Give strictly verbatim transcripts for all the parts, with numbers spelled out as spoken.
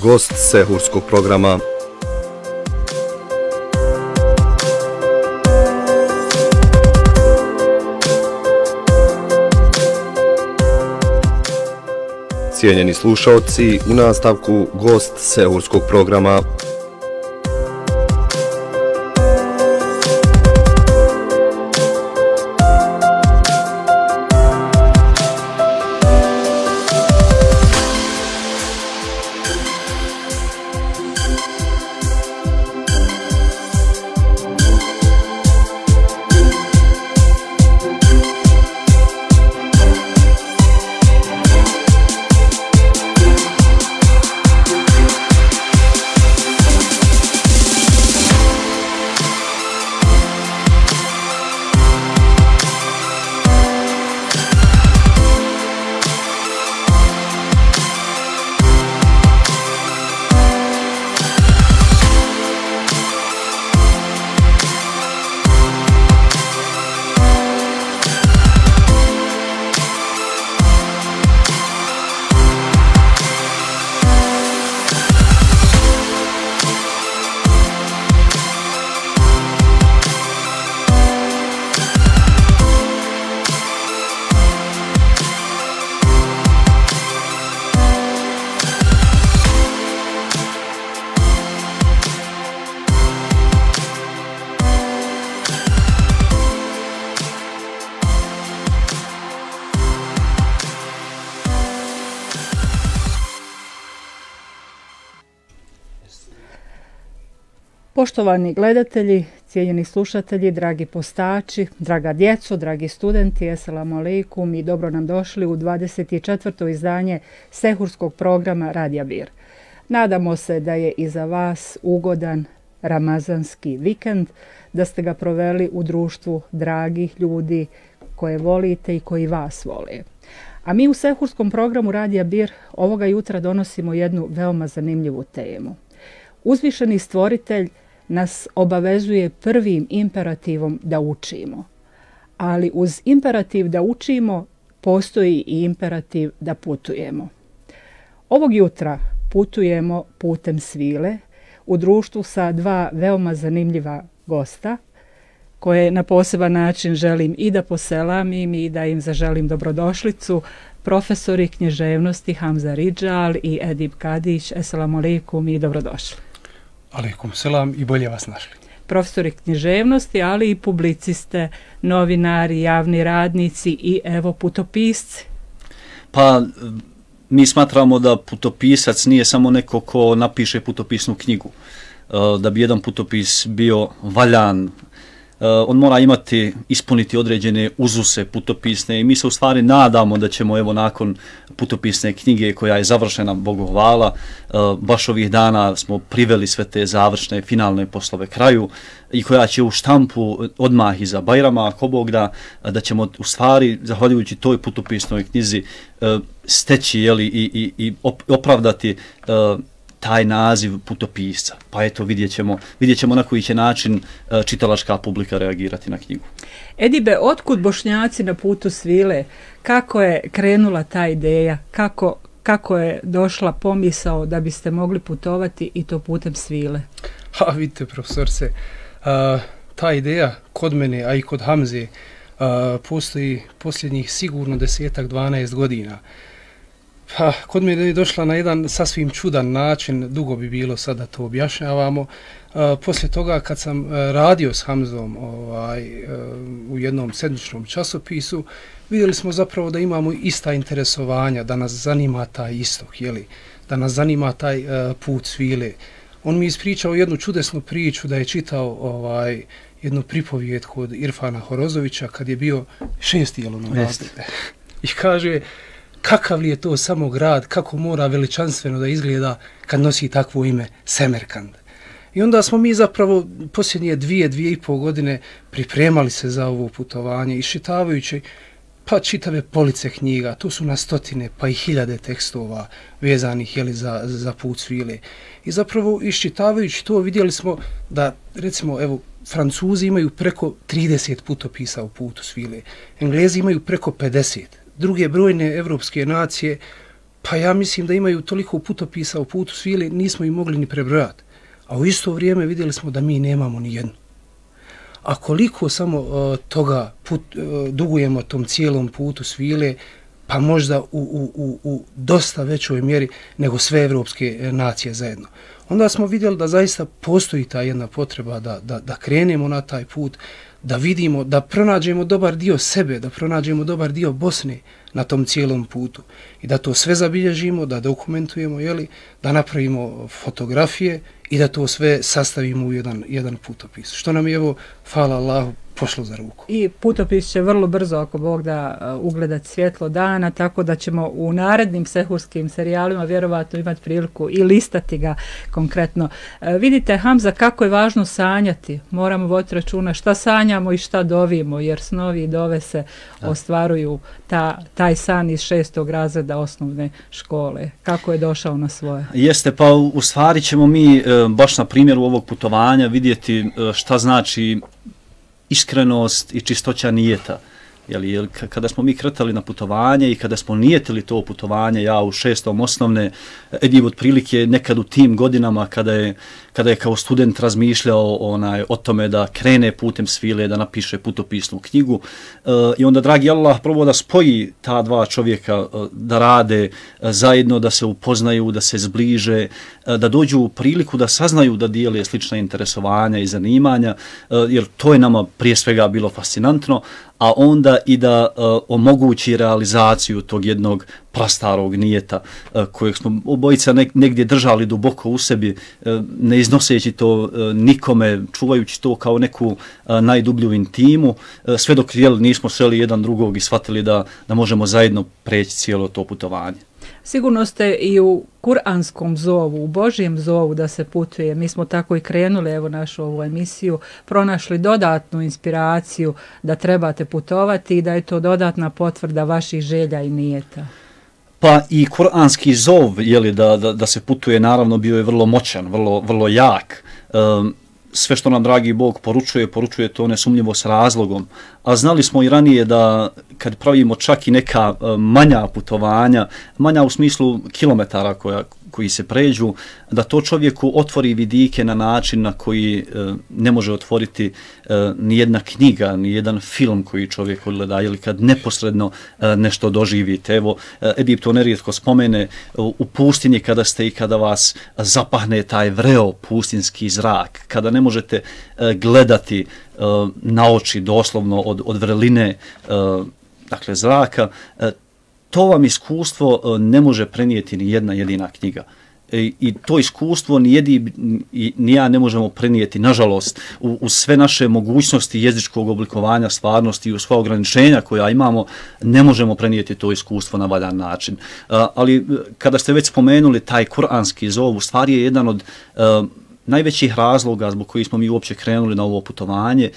gost sehurskog programa. Cijenjeni slušaoci, u nastavku gost sehurskog programa. Poštovani gledatelji, cijenjeni slušatelji, dragi postači, draga djeco, dragi studenti, eselamu alejkum i dobro nam došli u dvadeset četvrto izdanje sehurskog programa Radija Bir. Nadamo se da je iza vas ugodan ramazanski vikend, da ste ga proveli u društvu dragih ljudi koje volite i koji vas vole. A mi u sehurskom programu Radija Bir ovoga jutra donosimo jednu veoma zanimljivu temu. Uzvišeni stvoritelj nas obavezuje prvim imperativom da učimo. Ali uz imperativ da učimo postoji i imperativ da putujemo. Ovog jutra putujemo putem svile u društvu sa dva veoma zanimljiva gosta koje na poseban način želim i da poselamim i da im zaželim dobrodošlicu. Profesori književnosti Hamza Ridžal i Edip Kadić. Eselamu alejkum i dobrodošli. Alejkum selam i bolje vas našli. Profesori književnosti, ali i publiciste, novinari, javni radnici i evo putopisci. Pa mi smatramo da putopisac nije samo neko ko napiše putopisnu knjigu. Da bi jedan putopis bio valjan, on mora imati, ispuniti određene uzuse putopisne i mi se u stvari nadamo da ćemo evo nakon putopisne knjige koja je završena, Bogu hvala, baš ovih dana smo priveli sve te završne finalne poslove kraju i koja će u štampu odmah iza Bajrama, ako Bog da, da ćemo u stvari, zahvaljujući toj putopisnoj knjizi, steći jeli, i, i, i opravdati taj naziv putopisca. Pa eto, vidjet ćemo, vidjet ćemo na koji će način čitalačka publika reagirati na knjigu. Edibe, otkud Bošnjaci na putu svile? Kako je krenula ta ideja? Kako, kako je došla pomisao da biste mogli putovati i to putem svile? Ha, vidite, profesorce, uh, ta ideja kod mene, a i kod Hamze, uh, postoji posljednjih sigurno desetak, dvanaest godina. Pa, kod me je došla na jedan sasvim čudan način, dugo bi bilo sad da to objašnjavamo. Uh, poslije toga kad sam uh, radio s Hamzom ovaj, uh, u jednom sedmičnom časopisu, vidjeli smo zapravo da imamo ista interesovanja, da nas zanima taj istok, jeli? Da nas zanima taj uh, put svile. On mi ispričao jednu čudesnu priču da je čitao ovaj, jednu pripovijetku od Irfana Horozovića kad je bio šesti jelonom razrede. I kaže, kakav li je to samo grad, kako mora veličanstveno da izgleda kad nosi takvo ime Semerkand. I onda smo mi zapravo posljednje dvije, dvije i pol godine pripremali se za ovo putovanje, iščitavajući pa čitave police knjiga, tu su na stotine pa i hiljade tekstova vezanih jeli, za, za put svile. I zapravo iščitavajući to vidjeli smo da recimo evo Francuzi imaju preko trideset putopisa u putu svile, Englezi imaju preko pedeset, druge brojne evropske nacije pa ja mislim da imaju toliko putopisa u putu svile, nismo ih mogli ni prebrojati. A u isto vrijeme vidjeli smo da mi nemamo ni jednu. A koliko samo uh, toga put, uh, dugujemo tom cijelom putu svile, pa možda u, u, u, u dosta većoj mjeri nego sve evropske nacije zajedno. Onda smo vidjeli da zaista postoji ta jedna potreba da, da, da krenemo na taj put, da vidimo, da pronađemo dobar dio sebe, da pronađemo dobar dio Bosne na tom cijelom putu i da to sve zabilježimo, da dokumentujemo, jeli, da napravimo fotografije i da to sve sastavimo u jedan, jedan putopis. Što nam je, evo, hvala Allahu, pošlo za ruku. I putopis će vrlo brzo, ako Bog da, ugledati svjetlo dana, tako da ćemo u narednim sehurskim serijalima vjerovatno imati priliku i listati ga konkretno. E, vidite, Hamza, kako je važno sanjati. Moramo voditi računa šta sanjamo i šta dovimo, jer snovi i dove se da. ostvaruju ta, taj san iz šestog razreda osnovne škole. Kako je došao na svoje? Jeste, pa u stvari ćemo mi baš na primjeru ovog putovanja vidjeti šta znači iskrenost i čistoća nijeta. Jeli, jel, kada smo mi kretali na putovanje i kada smo nijetili to putovanje, ja u šestom osnovne, Edib otprilike nekad u tim godinama kada je, kada je kao student razmišljao onaj, o tome da krene putem svile, da napiše putopisnu knjigu e, i onda, dragi Allah, probao da spoji ta dva čovjeka, e, da rade e, zajedno, da se upoznaju, da se zbliže, e, da dođu u priliku da saznaju da dijele slična interesovanja i zanimanja, e, jer to je nama prije svega bilo fascinantno, a onda i da uh, omogući realizaciju tog jednog prastarog nijeta uh, kojeg smo obojica ne, negdje držali duboko u sebi, uh, ne iznoseći to uh, nikome, čuvajući to kao neku uh, najdublju intimu, uh, sve dok jel, nismo sreli jedan drugog i shvatili da, da možemo zajedno preći cijelo to putovanje. Sigurno ste i u kuranskom zovu, u Božjem zovu da se putuje. Mi smo tako i krenuli, evo, našu ovu emisiju, pronašli dodatnu inspiraciju da trebate putovati i da je to dodatna potvrda vaših želja i nijeta. Pa i kuranski zov, jeli, da, da, da se putuje, naravno bio je vrlo moćan, vrlo, vrlo jak. Um, sve što nam dragi Bog poručuje, poručuje to nesumnjivo s razlogom. A znali smo i ranije da kad pravimo čak i neka manja putovanja, manja u smislu kilometara koja, koji se pređu, da to čovjeku otvori vidike na način na koji e, ne može otvoriti e, ni jedna knjiga, ni jedan film koji čovjek odgleda, ili kad neposredno e, nešto doživite. Evo, Edip to nerijetko spomene, u, u pustinji kada ste i kada vas zapahne taj vreo pustinski zrak, kada ne možete e, gledati e, na oči doslovno od, od vrline e, dakle zraka, e, to vam iskustvo e, ne može prenijeti ni jedna jedina knjiga. I, i to iskustvo ni, jedi, ni ja ne možemo prenijeti, nažalost, u, u sve naše mogućnosti jezičkog oblikovanja stvarnosti i u sva ograničenja koja imamo, ne možemo prenijeti to iskustvo na valjan način. Uh, ali kada ste već spomenuli taj kuranski zov, u stvari je jedan od uh, najvećih razloga zbog kojih smo mi uopće krenuli na ovo putovanje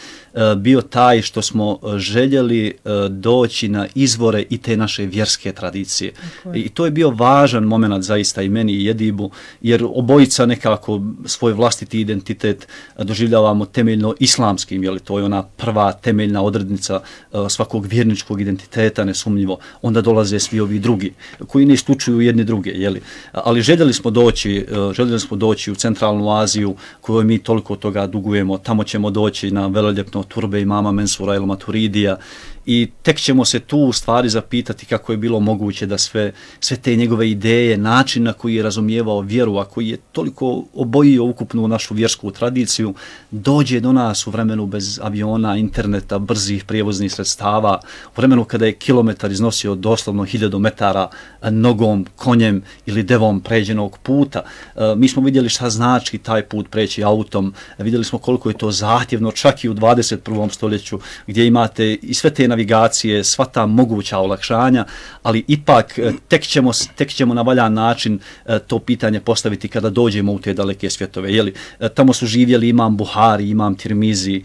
bio taj što smo željeli doći na izvore i te naše vjerske tradicije. I to je bio važan moment zaista i meni i Edibu, jer obojica nekako svoj vlastiti identitet doživljavamo temeljno islamskim, jer to je ona prva temeljna odrednica svakog vjerničkog identiteta, nesumnjivo. Onda dolaze svi ovi drugi, koji ne isključuju jedni druge, jeli. Ali željeli smo doći, željeli smo doći u centralnu Aziju, kojoj mi toliko toga dugujemo. Tamo ćemo doći na veleljepno turbe imama Mensura el Maturidija i tek ćemo se tu u stvari zapitati kako je bilo moguće da sve, sve te njegove ideje, način na koji je razumijevao vjeru, a koji je toliko obojio ukupnu našu vjersku tradiciju, dođe do nas u vremenu bez aviona, interneta, brzih prijevoznih sredstava, u vremenu kada je kilometar iznosio doslovno hiljadu metara nogom, konjem ili devom pređenog puta. E, mi smo vidjeli šta znači taj put preći autom, vidjeli smo koliko je to zahtjevno čak i u dvadeset prvom stoljeću gdje imate i sve te navigacije, sva ta moguća olakšanja, ali ipak tek ćemo, tek ćemo na valjan način to pitanje postaviti kada dođemo u te daleke svjetove. Jeli, tamo su živjeli imam Buhari, imam Tirmizi,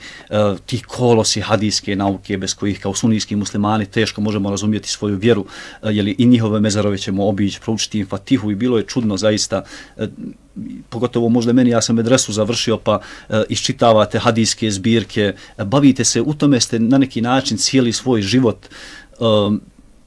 ti kolosi hadijske nauke bez kojih kao sunijski muslimani teško možemo razumjeti svoju vjeru, jeli, i njihove mezarove ćemo obići, proučiti im Fatihu i bilo je čudno zaista, pogotovo možda meni, ja sam medresu završio pa e, iščitavate hadijske zbirke, bavite se, u tome ste na neki način cijeli svoj život e,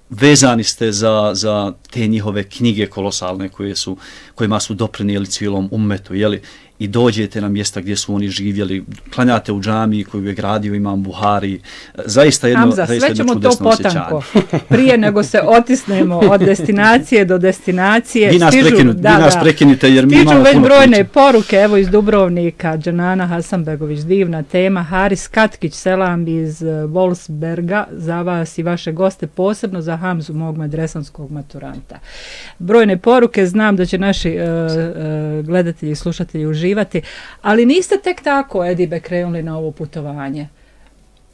vezani ste za, za te njihove knjige kolosalne koje su, kojima su doprinijeli cijelom ummetu, jeli, i dođete na mjesta gdje su oni živjeli, klanjate u džamiji koju je gradio Imam Buhari, zaista jedno, Hamza, zaista sve ćemo jedno to potanko, prije nego se otisnemo od destinacije do destinacije. Vi nas, stižu, prekinu, da, vi nas da, prekinite jer mi imamo puno već brojne priče. poruke, evo iz Dubrovnika, Džanana Hasanbegović, divna tema, Haris Katkić, selam iz Wolfsberga, za vas i vaše goste, posebno za Hamzu, mog medresanskog maturanta. Brojne poruke, znam da će naši uh, uh, gledatelji i slušatelji uživati, ali niste tek tako, Edibe, krenuli na ovo putovanje.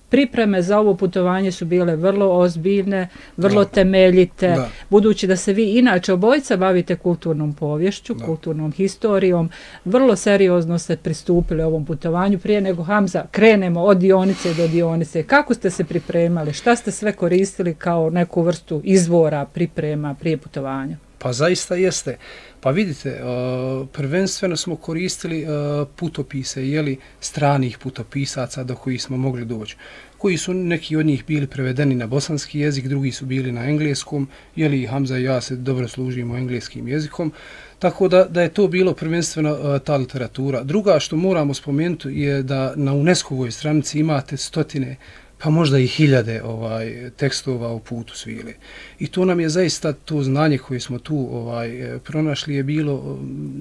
Pripreme za ovo putovanje su bile vrlo ozbiljne, vrlo da. temeljite, da. budući da se vi inače obojica bavite kulturnom povješću, da. kulturnom historijom, vrlo seriozno ste pristupili ovom putovanju prije nego, Hamza, krenemo od dionice do dionice. Kako ste se pripremali? Šta ste sve koristili kao neku vrstu izvora priprema prije putovanja? Pa zaista jeste. Pa vidite, uh, prvenstveno smo koristili uh, putopise, jeli, stranih putopisaca do kojih smo mogli doći, koji su neki od njih bili prevedeni na bosanski jezik, drugi su bili na engleskom, jeli Hamza i ja se dobro služimo engleskim jezikom, tako da, da je to bilo prvenstveno uh, ta literatura. Druga što moramo spomenuti je da na UNESCO-voj stranici imate stotine, pa možda i hiljade ovaj tekstova o putu svile. I to nam je zaista to znanje koje smo tu ovaj pronašli je bilo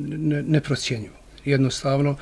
ne, neprocjenjivo. Jednostavno,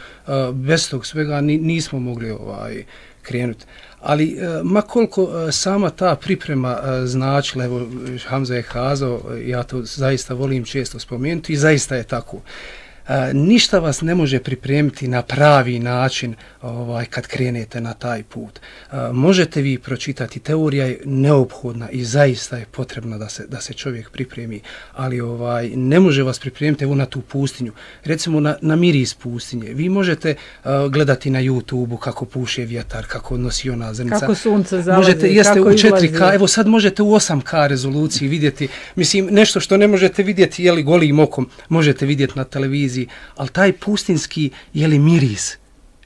bez tog svega nismo mogli ovaj krenuti. Ali ma koliko sama ta priprema značila, evo Hamza je kazao, ja to zaista volim često spomenuti i zaista je tako. Uh, ništa vas ne može pripremiti na pravi način ovaj, kad krenete na taj put. Uh, možete vi pročitati, teorija je neophodna i zaista je potrebna da se, da se čovjek pripremi, ali ovaj, ne može vas pripremiti evo na tu pustinju. Recimo na, na miris pustinje. Vi možete uh, gledati na YouTubeu kako puše vjetar, kako nosi ona zrnica. Kako sunce zalazi, možete, jeste kako u četiri K, izlazi. evo sad možete u osam K rezoluciji vidjeti, mislim, nešto što ne možete vidjeti jeli golim okom, možete vidjeti na televiziji, ali taj pustinski jeli miris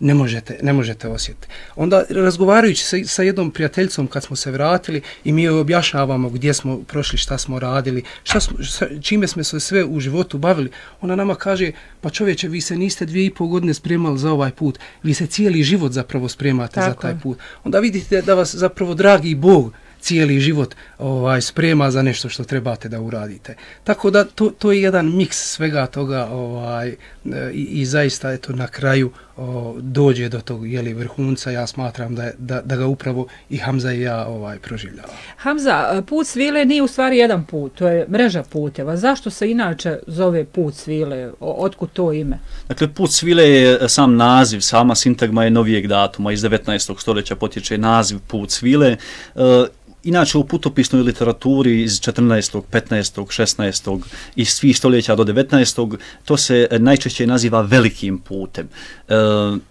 ne možete, ne možete osjetiti. Onda razgovarajući sa, sa jednom prijateljicom kad smo se vratili i mi joj objašnjavamo gdje smo prošli, šta smo radili, šta smo, šta, čime smo se sve u životu bavili, ona nama kaže, pa čovječe, vi se niste dvije i pol godine spremali za ovaj put, vi se cijeli život zapravo spremate Tako za taj put. Onda vidite da vas zapravo dragi Bog cijeli život ovaj sprema za nešto što trebate da uradite. Tako da to, to je jedan miks svega toga ovaj i, i zaista eto na kraju o, dođe do tog jeli vrhunca. Ja smatram da, je, da da ga upravo i Hamza i ja ovaj proživljavamo. Hamza, put svile nije u stvari jedan put, to je mreža puteva. Zašto se inače zove put svile? Otkud to ime? Dakle, put svile je sam naziv, sama sintagma je novijeg datuma, iz devetnaestog stoljeća potječe naziv put svile. E, Inače, u putopisnoj literaturi iz četrnaestog, petnaestog, šesnaestog i svih stoljeća do devetnaestog to se najčešće naziva velikim putem. E,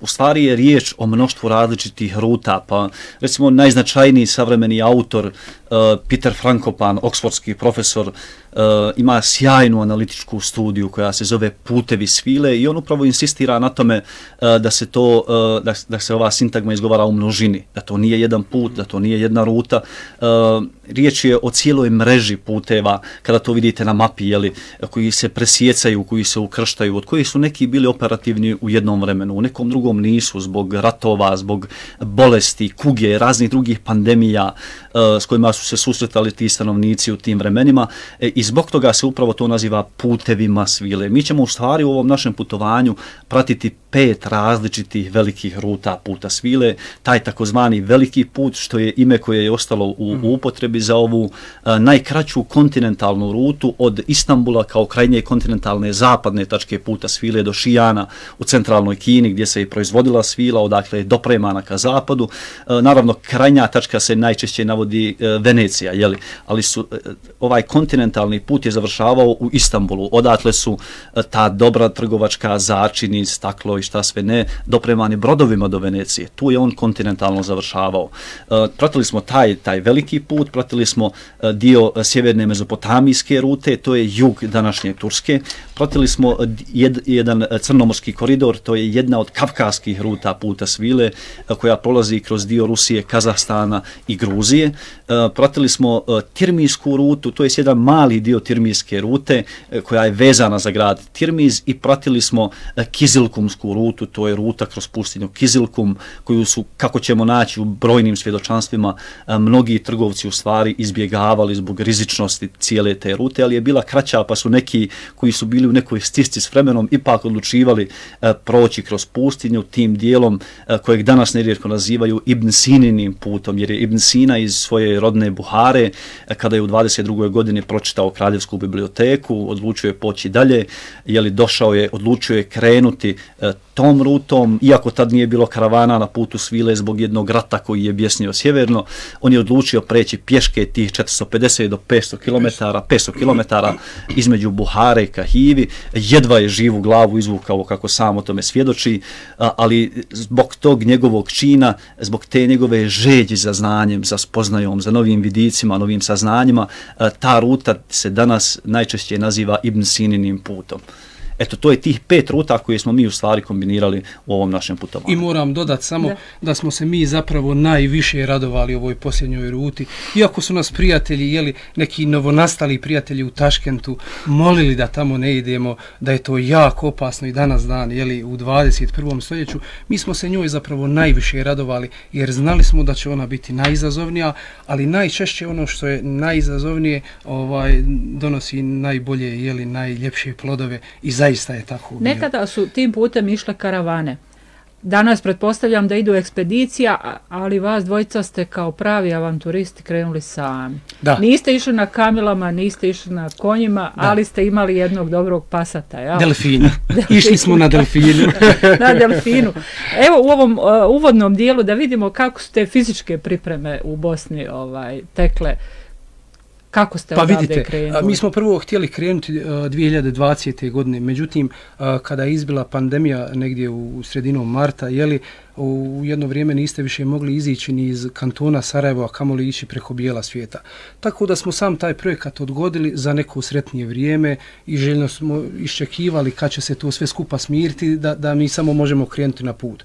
u stvari je riječ o mnoštvu različitih ruta, pa recimo najznačajniji savremeni autor Uh, Peter Frankopan, oksfordski profesor, uh, ima sjajnu analitičku studiju koja se zove Putevi svile i on upravo insistira na tome uh, da se to uh, da, da se ova sintagma izgovara u množini, da to nije jedan put, da to nije jedna ruta. Uh, riječ je o cijeloj mreži puteva, kada to vidite na mapi, jeli, koji se presjecaju, koji se ukrštaju, od kojih su neki bili operativni u jednom vremenu, u nekom drugom nisu, zbog ratova, zbog bolesti, kuge, raznih drugih pandemija uh, s kojima su se susretali ti stanovnici u tim vremenima e, i zbog toga se upravo to naziva putevima svile. Mi ćemo u stvari u ovom našem putovanju pratiti pet različitih velikih ruta puta svile, taj takozvani veliki put, što je ime koje je ostalo u, u upotrebi za ovu a, najkraću kontinentalnu rutu od Istanbula kao krajnje kontinentalne zapadne tačke puta svile do Šijana u centralnoj Kini gdje se je proizvodila svila, odakle je dopremana ka zapadu. A, naravno, krajnja tačka se najčešće navodi a, Venecija, jeli? Ali su, a, ovaj kontinentalni put je završavao u Istanbulu, odatle su a, ta dobra trgovačka začini, staklo i i šta sve ne, dopremani brodovima do Venecije. Tu je on kontinentalno završavao. Pratili smo taj, taj veliki put, pratili smo dio sjeverne mezopotamijske rute, to je jug današnje Turske. Pratili smo jed, jedan crnomorski koridor, to je jedna od kavkaskih ruta puta svile koja prolazi kroz dio Rusije, Kazahstana i Gruzije. Pratili smo Tirmijsku rutu, to je jedan mali dio Tirmijske rute koja je vezana za grad Tirmiz, i pratili smo Kizilkumsku rutu, to je ruta kroz pustinju Kizilkum, koju su, kako ćemo naći u brojnim svjedočanstvima, mnogi trgovci u stvari izbjegavali zbog rizičnosti cijele te rute, ali je bila kraća, pa su neki koji su bili u nekoj stisci s vremenom ipak odlučivali proći kroz pustinju tim dijelom kojeg danas nerijetko nazivaju Ibn Sininim putom, jer je Ibn Sina iz svoje rodne Buhare, kada je u dvadeset drugoj godini pročitao Kraljevsku biblioteku, odlučio je poći dalje, jeli došao je, odlučio je krenuti tom rutom, iako tad nije bilo karavana na putu svile zbog jednog rata koji je bjesnio sjeverno, on je odlučio preći pješke tih četiristo pedeset do petsto kilometara, petsto kilometara između Buhare i Kahivi, jedva je živu glavu izvukao, kako sam o tome svjedoči, ali zbog tog njegovog čina, zbog te njegove žeđi za znanjem, za spoznajom, za novim vidicima, novim saznanjima, ta ruta se danas najčešće naziva Ibn Sininim putom. Eto, to je tih pet ruta koje smo mi u stvari kombinirali u ovom našem putovanju. I moram dodati samo da. da smo se mi zapravo najviše radovali ovoj posljednjoj ruti. Iako su nas prijatelji, jeli, neki novonastali prijatelji u Taškentu, molili da tamo ne idemo, da je to jako opasno i danas dan, jeli, u dvadeset prvom stoljeću, mi smo se njoj zapravo najviše radovali, jer znali smo da će ona biti najizazovnija, ali najčešće ono što je najizazovnije ovaj, donosi najbolje, jeli, najljepše plodove, i zaista je tako. Nekada su tim putem išle karavane. Danas pretpostavljam da idu ekspedicija, ali vas dvojica ste kao pravi avanturisti krenuli sami. Da. Niste išli na kamilama, niste išli na konjima, da. ali ste imali jednog dobrog pasata. Ja? Delfina. Išli smo na delfinu. na delfinu. Evo u ovom uh, uvodnom dijelu da vidimo kako su te fizičke pripreme u Bosni ovaj, tekle. Kako ste pa odavde vidite, krenuli? Mi smo prvo htjeli krenuti uh, dvije hiljade dvadesete. godine, međutim, uh, kada je izbila pandemija negdje u, u sredinom marta, jeli, u jedno vrijeme niste više mogli izići ni iz kantona Sarajeva, a kamoli ići preko bijela svijeta. Tako da smo sam taj projekat odgodili za neko sretnije vrijeme i željno smo iščekivali kad će se to sve skupa smiriti, da, da mi samo možemo krenuti na put.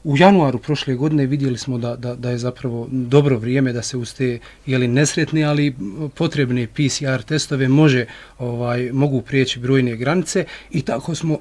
U januaru prošle godine vidjeli smo da, da, da je zapravo dobro vrijeme da se uz te, jeli, nesretne, ali potrebne P C R testove može, ovaj, mogu prijeći brojne granice, i tako smo,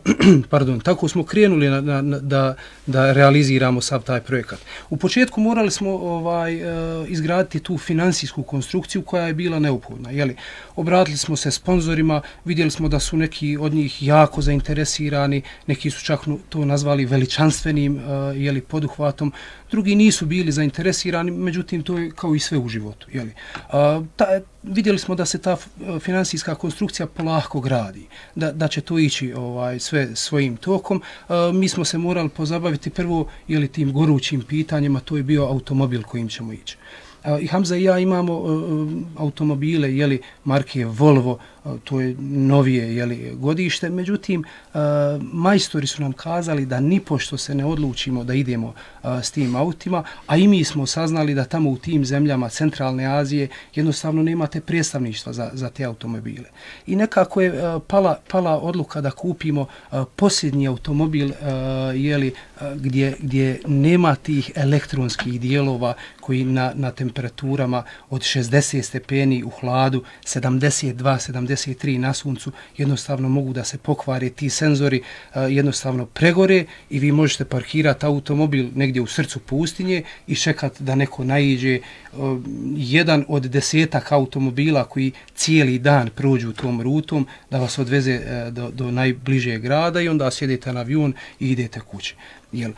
pardon, tako smo krenuli na, na, na, da, da realiziramo sav taj projekat. U početku morali smo ovaj, izgraditi tu finansijsku konstrukciju koja je bila neophodna. Jeli, obratili smo se sponzorima, vidjeli smo da su neki od njih jako zainteresirani, neki su čak to nazvali veličanstvenim, jeli, poduhvatom, drugi nisu bili zainteresirani, međutim to je kao i sve u životu. Jeli. A, ta, vidjeli smo da se ta finansijska konstrukcija polako gradi, da, da će to ići ovaj, sve svojim tokom. A, mi smo se morali pozabaviti prvo, jeli, tim gorućim pitanjima, to je bio automobil kojim ćemo ići. I Hamza i ja imamo uh, automobile, jeli, marke Volvo, uh, to je novije, jeli, godište, međutim, uh, majstori su nam kazali da nipošto se ne odlučimo da idemo uh, s tim autima, a i mi smo saznali da tamo u tim zemljama Centralne Azije jednostavno nemate predstavništva za, za te automobile. I nekako je uh, pala, pala odluka da kupimo uh, posljednji automobil, uh, jeli, uh, gdje, gdje nema tih elektronskih dijelova koji na, na temperaturama od šezdeset stepeni u hladu, sedamdeset dva sedamdeset tri na suncu, jednostavno mogu da se pokvare ti senzori, uh, jednostavno pregore i vi možete parkirati automobil negdje u srcu pustinje i čekati da neko naiđe. Uh, jedan od desetak automobila koji cijeli dan prođu tom rutom da vas odveze uh, do, do najbližeg grada i onda sjedete na avion i idete kući. Jel?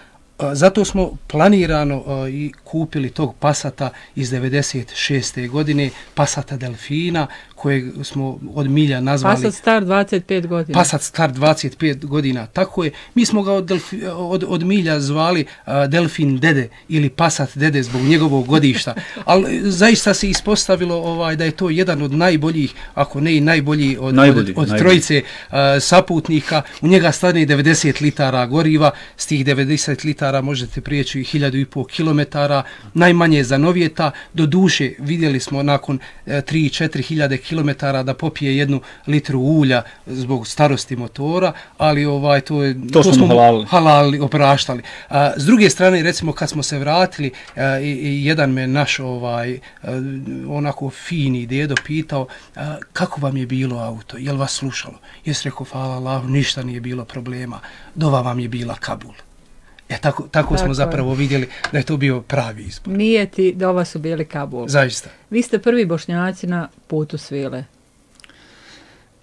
Zato smo planirano uh, i kupili tog Passata iz devedeset šeste godine, Passata Delfina, kojeg smo od milja nazvali... Passat star dvadeset pet godina. Passat star dvadeset pet godina, tako je. Mi smo ga od, delfi, od, od milja zvali uh, Delfin Dede ili Passat Dede zbog njegovog godišta, ali zaista se ispostavilo ovaj, da je to jedan od najboljih, ako ne i najbolji od, najbolji, od, od najbolji. trojice uh, saputnika. U njega stane devedeset litara goriva, s tih devedeset litara možete prijeći hiljadu i pol kilometara, najmanje za novijeta. Do duše vidjeli smo nakon tri do četiri hiljade kilometara da popije jednu litru ulja zbog starosti motora, ali ovaj to je to, to smo halali, halali opraštali. A, s druge strane, recimo kad smo se vratili, a, i, i jedan me naš ovaj a, onako fini dedo pitao a, kako vam je bilo auto, jel vas slušalo? Jes rekao, hvala Allahu, ništa nije bilo problema, dova vam je bila Kabul. E, tako, tako, tako smo zapravo vidjeli da je to bio pravi izbor. Nije ti da ova su bili Kabul. Zaista. Vi ste prvi Bošnjaci na putu svile.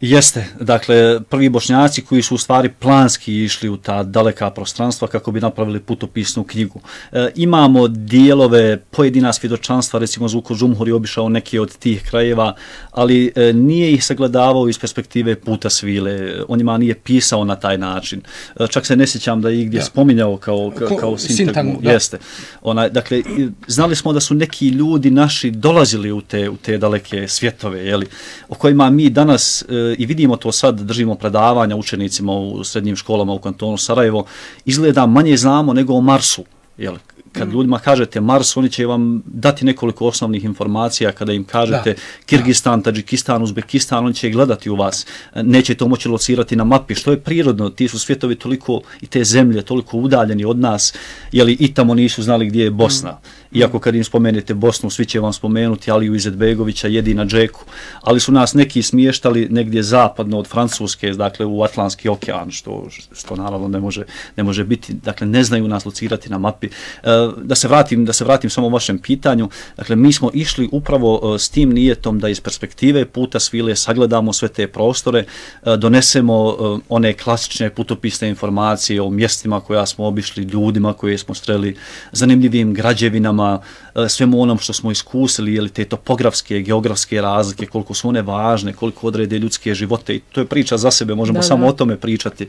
Jeste, dakle, prvi Bošnjaci koji su u stvari planski išli u ta daleka prostranstva kako bi napravili putopisnu knjigu. E, imamo dijelove, pojedina svjedočanstva, recimo Zuko Žumhur je obišao neke od tih krajeva, ali e, nije ih sagledavao iz perspektive puta svile, on njima nije pisao na taj način. E, čak se ne sjećam da je igdje ja. spominjao kao, kao, kao sintagmu. Jeste. Ona, dakle, znali smo da su neki ljudi naši dolazili u te, u te daleke svjetove, jeli, o kojima mi danas e, i vidimo to sad, držimo predavanja učenicima u srednjim školama u kantonu Sarajevo, izgleda manje znamo nego o Marsu. Jel? Kad ljudima kažete Mars, oni će vam dati nekoliko osnovnih informacija. Kada im kažete da. Kirgistan, Tadžikistan, Uzbekistan, oni će gledati u vas. Neće to moći locirati na mapi, što je prirodno. Ti su svjetovi toliko i te zemlje toliko udaljeni od nas, jeli i tamo nisu znali gdje je Bosna. Mm. Iako kad im spomenete Bosnu, svi će vam spomenuti Aliju Izetbegovića, Jedina Džeku, ali su nas neki smještali negdje zapadno od Francuske, dakle u Atlantski okean, što, što naravno ne može, ne može biti, dakle ne znaju nas locirati na mapi. Da se vratim, da se vratim samo vašem pitanju, dakle mi smo išli upravo s tim nijetom da iz perspektive puta svile sagledamo sve te prostore, donesemo one klasične putopisne informacije o mjestima koja smo obišli, ljudima koje smo sreli, zanimljivim građevinama, svemu onom što smo iskusili, jeli te topografske, geografske razlike, koliko su one važne, koliko odrede ljudske živote, i to je priča za sebe, možemo da, samo da. o tome pričati.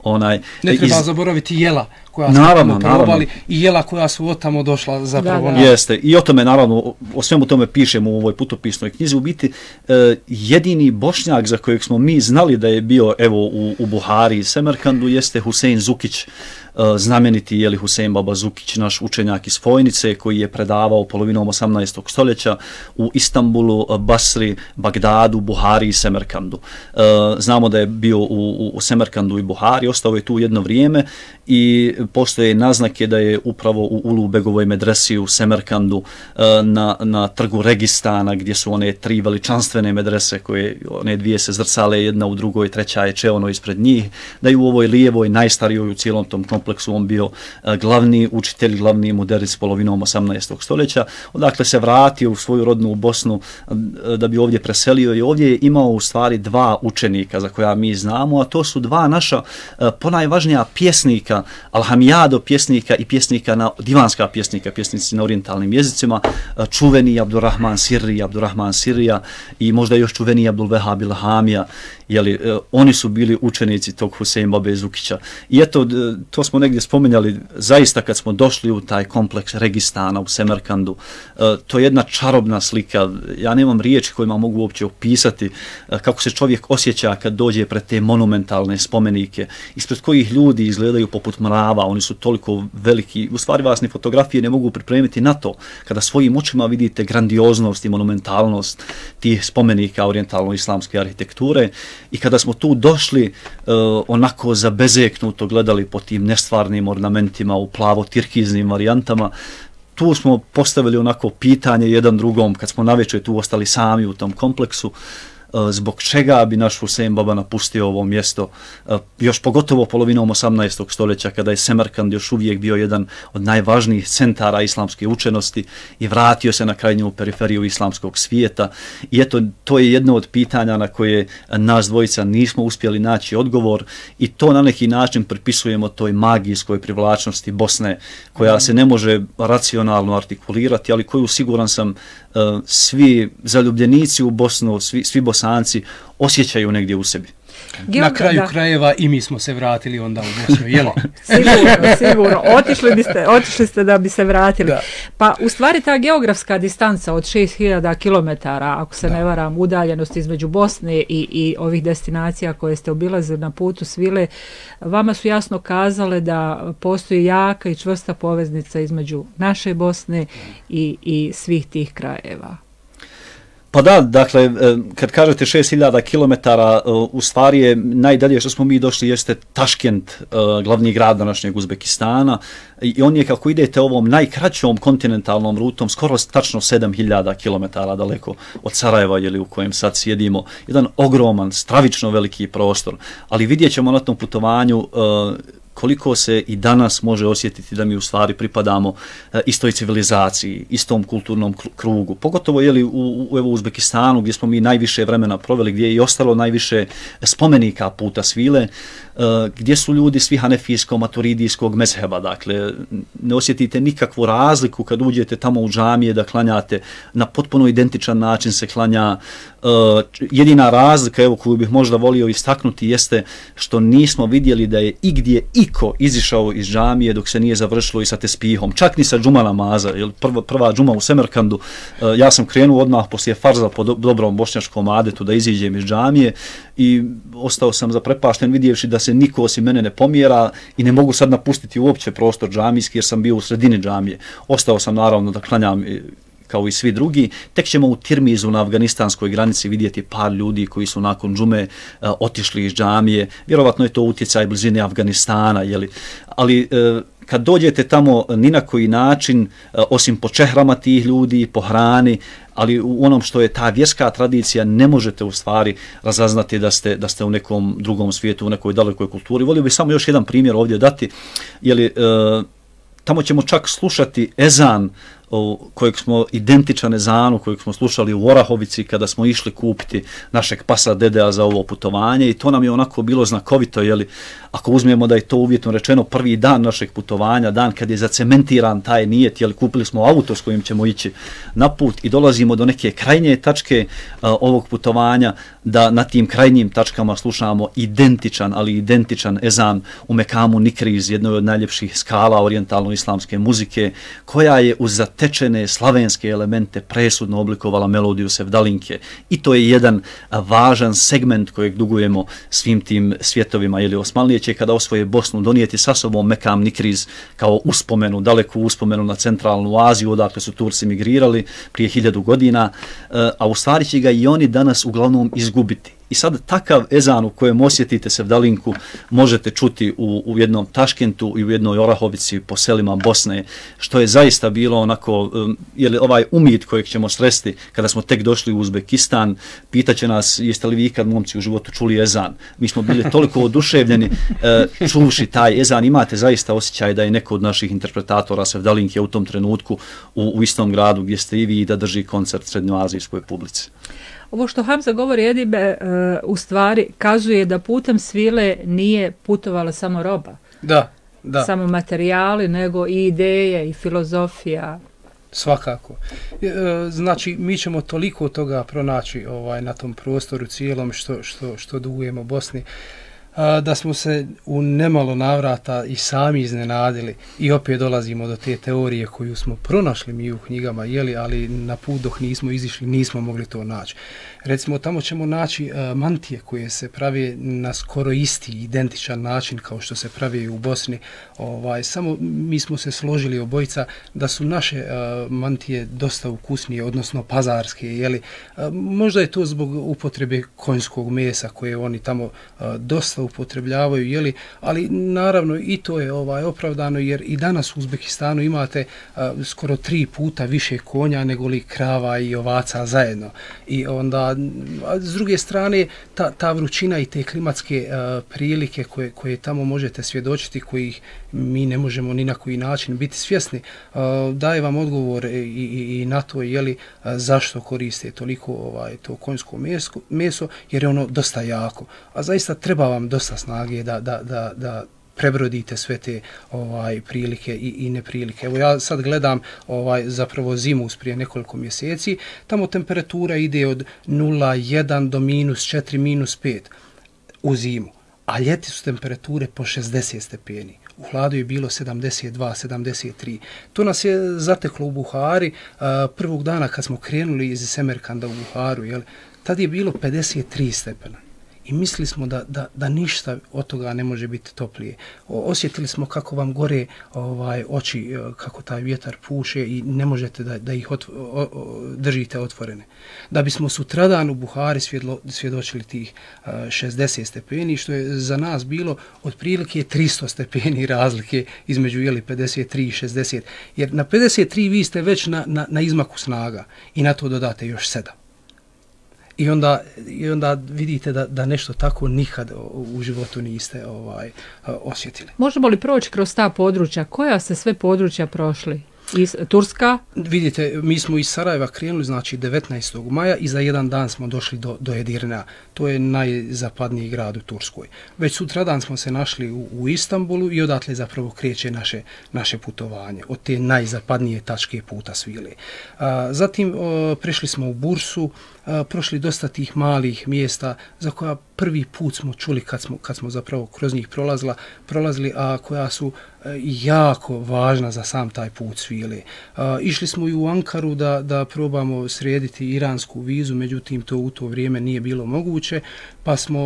Onaj, ne treba iz... zaboraviti jela koja su naravno, tamo probali i jela koja su od tamo došla zapravo. Da, da. Jeste, i o tome naravno, o svemu tome pišemo u ovoj putopisnoj knjizi. U biti, eh, jedini Bošnjak za kojeg smo mi znali da je bio evo u, u Buhari i Semerkandu jeste Husein Zukić, znameniti jeli Husein Baba Zukić, naš učenjak iz Fojnice koji je predavao polovinom osamnaestog stoljeća u Istanbulu, Basri, Bagdadu, Buhari i Semerkandu. Znamo da je bio u, u Semerkandu i Buhari, ostao je tu jedno vrijeme i postoje naznake da je upravo u Ulubegovoj medresi u Semerkandu na, na trgu Registana, gdje su one tri veličanstvene medrese koje one dvije se zrcale jedna u drugoj, treća je čeono ispred njih, da je u ovoj lijevoj, najstarijoj u cijelom tom kompleksu on bio glavni učitelj, glavni muderis polovinom osamnaestog stoljeća. Odakle se vratio u svoju rodnu Bosnu da bi ovdje preselio i ovdje je imao u stvari dva učenika za koja mi znamo, a to su dva naša ponajvažnija pjesnika, Alhamijado pjesnika i pjesnika na, divanska pjesnika, pjesnici na orijentalnim jezicima, čuveni Abdurrahman Sirri, Abdurrahman Sirija i možda još čuveni Abdul Vehab Ilhamija. Jeli, oni su bili učenici tog Husein Babe Zukića. I eto, to smo negdje spomenjali, zaista kad smo došli u taj kompleks Registana u Semerkandu, to je jedna čarobna slika. Ja nemam riječi kojima mogu uopće opisati kako se čovjek osjeća kad dođe pred te monumentalne spomenike, ispred kojih ljudi izgledaju poput mrava, oni su toliko veliki, u stvari vas ni fotografije ne mogu pripremiti na to, kada svojim očima vidite grandioznost i monumentalnost tih spomenika orijentalno-islamske arhitekture. I kada smo tu došli, uh, onako zabezeknuto gledali po tim nestvarnim ornamentima u plavo-tirkiznim varijantama, tu smo postavili onako pitanje jedan drugom, kad smo navečer tu ostali sami u tom kompleksu, zbog čega bi naš Husein Baba napustio ovo mjesto, još pogotovo polovinom osamnaestog stoljeća, kada je Semerkand još uvijek bio jedan od najvažnijih centara islamske učenosti i vratio se na krajnju periferiju islamskog svijeta. I eto, to je jedno od pitanja na koje nas dvojica nismo uspjeli naći odgovor i to na neki način pripisujemo toj magijskoj privlačnosti Bosne, koja se ne može racionalno artikulirati, ali koju, siguran sam, svi zaljubljenici u Bosnu, svi, svi Bosanci osjećaju negdje u sebi. Na kraju da. krajeva i mi smo se vratili onda u Bosnu, jel? Sigurno, sigurno. Otišli, biste, otišli ste da bi se vratili. Da. Pa u stvari ta geografska distanca od šest hiljada kilometara, ako se da. ne varam, udaljenost između Bosne i, i ovih destinacija koje ste obilazili na putu svile, vama su jasno kazale da postoji jaka i čvrsta poveznica između naše Bosne i, i svih tih krajeva. Pa da, dakle, kad kažete šest hiljada kilometara, u stvari je najdalje što smo mi došli jeste Taškent, glavni grad današnjeg Uzbekistana, i on je, kako idete ovom najkraćom kontinentalnom rutom, skoro tačno sedam hiljada kilometara daleko od Sarajeva, jeli, u kojem sad sjedimo, jedan ogroman, stravično veliki prostor, ali vidjet ćemo na tom putovanju koliko se i danas može osjetiti da mi u stvari pripadamo istoj civilizaciji, istom kulturnom krugu. Pogotovo jeli, u, u evo, Uzbekistanu, gdje smo mi najviše vremena proveli, gdje je i ostalo najviše spomenika puta svile, gdje su ljudi svi hanefijskog, maturidijskog mezheba. Dakle, ne osjetite nikakvu razliku kad uđete tamo u džamije da klanjate. Na potpuno identičan način se klanja. Jedina razlika, evo, koju bih možda volio istaknuti, jeste što nismo vidjeli da je igdje iko izišao iz džamije dok se nije završilo i sa tespihom. Čak ni sa džuma namaza. Prva, prva džuma u Semerkandu, ja sam krenuo odmah poslije farza po dobrom bošnjačkom adetu da iziđem iz džamije i ostao sam zaprepašten vidjevši da se niko osim mene ne pomjera i ne mogu sad napustiti uopće prostor džamijski jer sam bio u sredini džamije. Ostao sam naravno da klanjam kao i svi drugi. Tek ćemo u Tirmizu na afganistanskoj granici vidjeti par ljudi koji su nakon džume uh, otišli iz džamije. Vjerovatno je to utjecaj blizine Afganistana, jeli? Ali uh, kad dođete tamo ni na koji način, uh, osim po čehrama tih ljudi, po hrani, ali u onom što je ta vjerska tradicija, ne možete u stvari razaznati da ste, da ste u nekom drugom svijetu, u nekoj dalekoj kulturi. Volio bih samo još jedan primjer ovdje dati, jeli, uh, tamo ćemo čak slušati ezan kojeg smo identičan ezanu kojeg smo slušali u Orahovici kada smo išli kupiti našeg pasa Dedea za ovo putovanje i to nam je onako bilo znakovito, jeli, ako uzmemo da je to uvjetno rečeno prvi dan našeg putovanja, dan kad je zacementiran taj nijet, jeli, kupili smo auto s kojim ćemo ići na put i dolazimo do neke krajnje tačke uh, ovog putovanja, da na tim krajnjim tačkama slušamo identičan, ali identičan ezan u Mekamu Nikriz, jednoj od najljepših skala orijentalno-islamske muzike, koja je uz zatečene slavenske elemente presudno oblikovala melodiju sevdalinke. I to je jedan važan segment kojeg dugujemo svim tim svjetovima. Ili Osmanlije će kada osvoje Bosnu donijeti sa sobom Mekam Nikriz kao uspomenu, daleku uspomenu na centralnu Aziju, odakle su Turci migrirali prije hiljadu godina, a u stvari će ga i oni danas uglavnom izgubiti. I sad takav ezan u kojem osjetite sevdalinku možete čuti u, u jednom Taškentu i u jednoj Orahovici po selima Bosne, što je zaista bilo onako, um, je li ovaj umid kojeg ćemo sresti kada smo tek došli u Uzbekistan, pitaće nas jeste li vi ikad momci u životu čuli ezan. Mi smo bili toliko oduševljeni uh, čuvši taj ezan, imate zaista osjećaj da je neko od naših interpretatora sevdalinke u tom trenutku u, u istom gradu gdje ste i vi da drži koncert srednjoazijskoj publici. Ovo što Hamza govori, Edibe, uh, u stvari kazuje da putem svile nije putovala samo roba. Da, da. Samo materijali, nego i ideje i filozofija. Svakako. E, znači, mi ćemo toliko toga pronaći ovaj, na tom prostoru cijelom što, što, što dugujemo Bosni, a, da smo se u nemalo navrata i sami iznenadili i opet dolazimo do te teorije koju smo pronašli mi u knjigama, jeli, ali na put dok nismo izišli nismo mogli to naći. Recimo, tamo ćemo naći uh, mantije koje se pravi na skoro isti, identičan način kao što se pravi u Bosni. Ovaj, samo mi smo se složili obojica da su naše uh, mantije dosta ukusnije, odnosno pazarske. Jeli? Uh, možda je to zbog upotrebe konjskog mesa koje oni tamo uh, dosta sredstva upotrebljavaju, jeli, ali naravno i to je ovaj opravdano jer i danas u Uzbekistanu imate a, skoro tri puta više konja nego li krava i ovaca zajedno. I onda a s druge strane ta, ta vrućina i te klimatske a, prilike koje, koje tamo možete svjedočiti, kojih mi ne možemo ni na koji način biti svjesni, a, daje vam odgovor i, i, i na to jeli, a, zašto koriste toliko ovaj, to konjsko meso, meso jer je ono dosta jako. A zaista treba vam dosta snage da, da, da, da prebrodite sve te ovaj prilike i, i neprilike. Evo ja sad gledam ovaj zapravo zimu prije nekoliko mjeseci, tamo temperatura ide od nula jedan do minus četiri, minus pet u zimu, a ljeti su temperature po šezdeset stepeni. U hladu je bilo sedamdeset dva, sedamdeset tri. To nas je zateklo u Buhari a, prvog dana kad smo krenuli iz Semerkanda u Buharu, jel? Tad je bilo pedeset tri stepena. I mislili smo da, da, da ništa od toga ne može biti toplije. O, osjetili smo kako vam gore ovaj, oči, kako taj vjetar puše i ne možete da, da ih otvo, o, o, držite otvorene. Da bismo sutradan u Buhari svjedlo, svjedočili tih uh, šezdeset stepeni, što je za nas bilo otprilike tristo stepeni razlike između jeli, pedeset tri i šezdeset. Jer na pedeset tri vi ste već na, na, na izmaku snaga i na to dodate još sedam. I onda, i onda vidite da, da nešto tako nikad u životu niste ovaj, osjetili. Možemo li proći kroz ta područja? Koja ste sve područja prošli? Iz Turska? Vidite, mi smo iz Sarajeva krenuli, znači devetnaestog maja i za jedan dan smo došli do, do Edirnea. To je najzapadniji grad u Turskoj. Već sutradan smo se našli u, u Istanbulu i odatle zapravo kreće naše, naše putovanje od te najzapadnije tačke puta svile. A, zatim o, prešli smo u Bursu, a, prošli dosta tih malih mjesta za koja prvi put smo čuli kad smo, kad smo zapravo kroz njih prolazila, prolazili, a koja su jako važna za sam taj put svile. A, išli smo i u Ankaru da, da probamo srediti iransku vizu, međutim to u to vrijeme nije bilo moguće, pa smo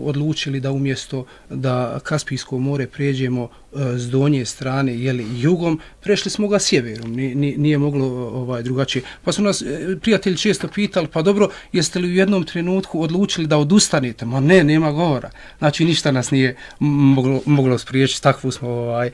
odlučili da umjesto da Kaspijsko more pređemo s donje strane, jeli, jugom, prešli smo ga sjeverom, nije, nije moglo ovaj, drugačije. Pa su nas prijatelji često pitali, pa dobro, jeste li u jednom trenutku odlučili da odustanete? Ma ne, nema govora. Znači ništa nas nije moglo, moglo spriječiti, takvu smo ovaj,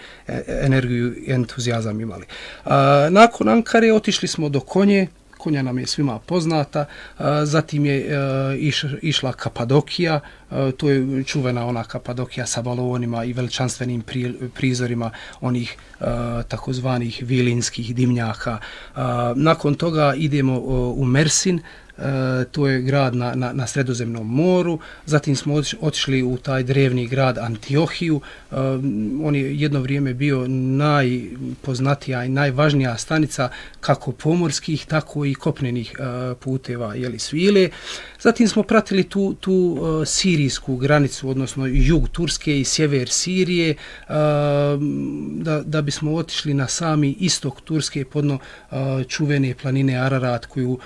energiju i entuzijazam imali. A, nakon Ankare otišli smo do Konje, Konja nam je svima poznata, a, zatim je a, iš, išla Kapadokija, a, to je čuvena ona Kapadokija sa balonima i veličanstvenim pri, prizorima onih a, takozvanih vilinskih dimnjaka. A, nakon toga idemo o, u Mersin, E, to je grad na, na, na Sredozemnom moru, zatim smo otišli u taj drevni grad Antiohiju, e, on je jedno vrijeme bio najpoznatija i najvažnija stanica kako pomorskih, tako i kopnenih e, puteva jeli, svile. Zatim smo pratili tu, tu e, sirijsku granicu, odnosno jug Turske i sjever Sirije, e, da, da bismo otišli na sami istok Turske podno e, čuvene planine Ararat, koju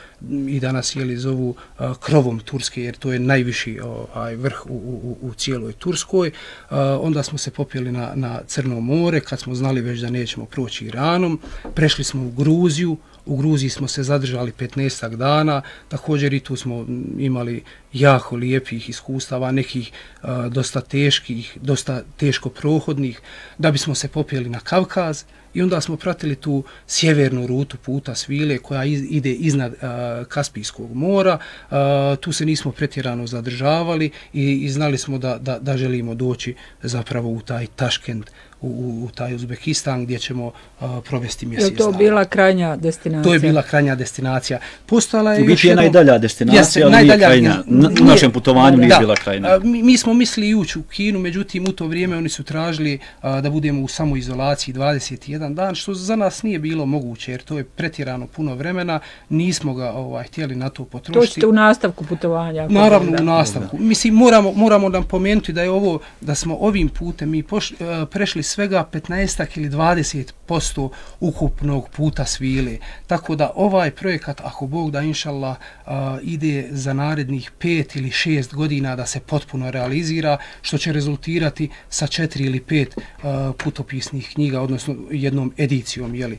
i danas jeli, zovu a, krovom Turske, jer to je najviši ovaj, vrh u, u, u cijeloj Turskoj. A, onda smo se popeli na, na Crno more, kad smo znali već da nećemo proći Iranom. Prešli smo u Gruziju. U Gruziji smo se zadržali petnaestak dana, također i tu smo imali jako lijepih iskustava, nekih a, dosta teških, dosta teško prohodnih, da bismo se popeli na Kavkaz i onda smo pratili tu sjevernu rutu puta svile koja iz, ide iznad a, Kaspijskog mora. A, tu se nismo pretjerano zadržavali i, i znali smo da, da, da želimo doći zapravo u taj Taškent, U, u taj Uzbekistan gdje ćemo uh, provesti mjesec dana. Je to bila krajnja destinacija? To je bila krajnja destinacija. Postala je u biti je jedno... najdalja destinacija, jeste, ali najdalja, nije krajnja. Na nije, našem putovanju nije da, bila krajnja. Mi, mi smo mislili ući u Kinu, međutim u to vrijeme oni su tražili uh, da budemo u samoizolaciji dvadeset jedan dan, što za nas nije bilo moguće, jer to je pretjerano puno vremena, nismo ga ovaj, htjeli na to potrošiti. To ćete u nastavku putovanja? Naravno u nastavku. Mislim, moramo, moramo nam pomenuti da je ovo, da smo ovim putem mi poš, uh, prešli svega petnaest ili dvadeset posto ukupnog puta svile. Tako da ovaj projekat, ako Bog da inšallah, uh, ide za narednih pet ili šest godina da se potpuno realizira, što će rezultirati sa četiri ili pet uh, putopisnih knjiga, odnosno jednom jednom edicijom jeli,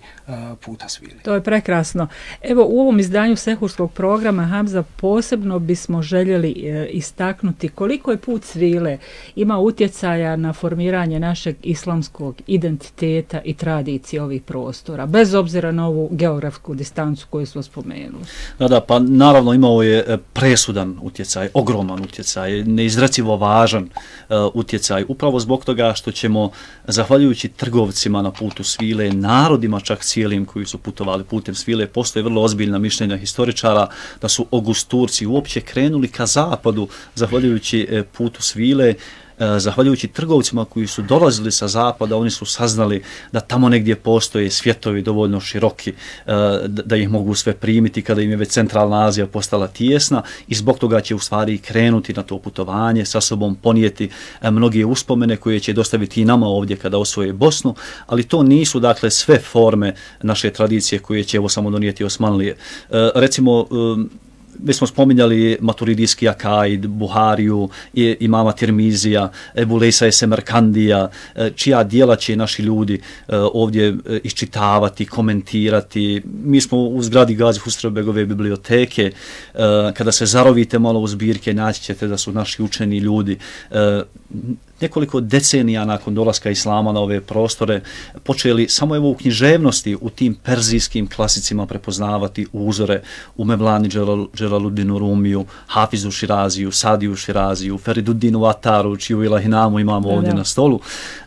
puta svile. To je prekrasno. Evo, u ovom izdanju Sehurskog programa, Hamza, posebno bismo željeli e, istaknuti koliko je put svile ima utjecaja na formiranje našeg islamskog identiteta i tradicije ovih prostora, bez obzira na ovu geografsku distancu koju smo spomenuli. Da, da, pa naravno imao je presudan utjecaj, ogroman utjecaj, neizrecivo važan uh, utjecaj, upravo zbog toga što ćemo, zahvaljujući trgovcima na putu svile, narodima čak cijelim koji su putovali putem svile, postoje vrlo ozbiljna mišljenja historičara da su Augusturci uopće krenuli ka zapadu, zahvaljujući uh, putu svile, zahvaljujući trgovcima koji su dolazili sa zapada, oni su saznali da tamo negdje postoje svjetovi dovoljno široki da ih mogu sve primiti kada im je već centralna Azija postala tijesna i zbog toga će u stvari krenuti na to putovanje, sa sobom ponijeti mnoge uspomene koje će dostaviti i nama ovdje kada osvoje Bosnu, ali to nisu dakle sve forme naše tradicije koje će evo samo donijeti Osmanlije. Recimo, mi smo spominjali Maturidijski Akaid, Buhariju, imama Tirmizija, Ebu Lejsa Semerkandija, čija dijela će naši ljudi ovdje iščitavati, komentirati. Mi smo u zgradi Gazi Husrevbegove biblioteke, kada se zarovite malo u zbirke, naći ćete da su naši učeni ljudi nekoliko decenija nakon dolaska islama na ove prostore počeli samo evo u književnosti, u tim perzijskim klasicima prepoznavati uzore u Mevlani Dželaluddinu Rumiju, Hafizu Širaziju, Sadiju Širaziju, Feriduddinu Ataru, čiju ilahinamu imamo ovdje na stolu.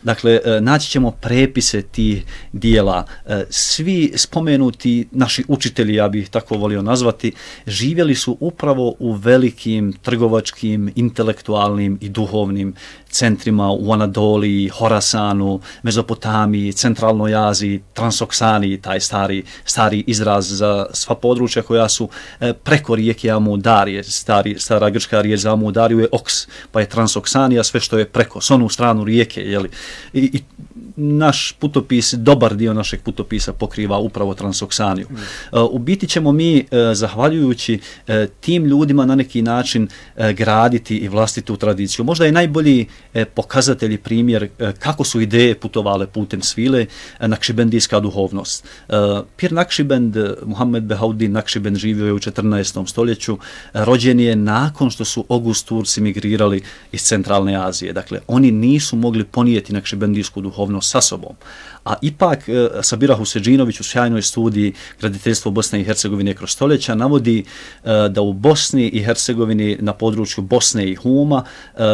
Dakle, naći ćemo prepise tih dijela. Svi spomenuti naši učitelji, ja bih tako volio nazvati, živjeli su upravo u velikim trgovačkim, intelektualnim i duhovnim centrima u Anadoliji, Horasanu, Mezopotamiji, Centralnoj Aziji, Transoksaniji, taj stari, stari izraz za sva područja koja su preko rijeke Amudarije. Stari, stara grčka riječ za Amudariju je Oks, pa je Transoksanija sve što je preko, s onu stranu rijeke. Jeli? I, i naš putopis, dobar dio našeg putopisa pokriva upravo Transoksaniju. Mm. U biti ćemo mi, zahvaljujući tim ljudima, na neki način graditi i vlastitu tradiciju. Možda je najbolji pokazatelj i primjer kako su ideje putovale putem svile nakšibendijska duhovnost. Pir Nakšibend, Muhammed Behauddin Nakšibend, živio je u četrnaestom stoljeću, rođen je nakon što su Augusturci migrirali iz centralne Azije. Dakle, oni nisu mogli ponijeti nakšibendijsku duhovnost sa sobom. A ipak Sabira Huseđinović u sjajnoj studiji Graditeljstvo Bosne i Hercegovine kroz stoljeća navodi da u Bosni i Hercegovini na području Bosne i Huma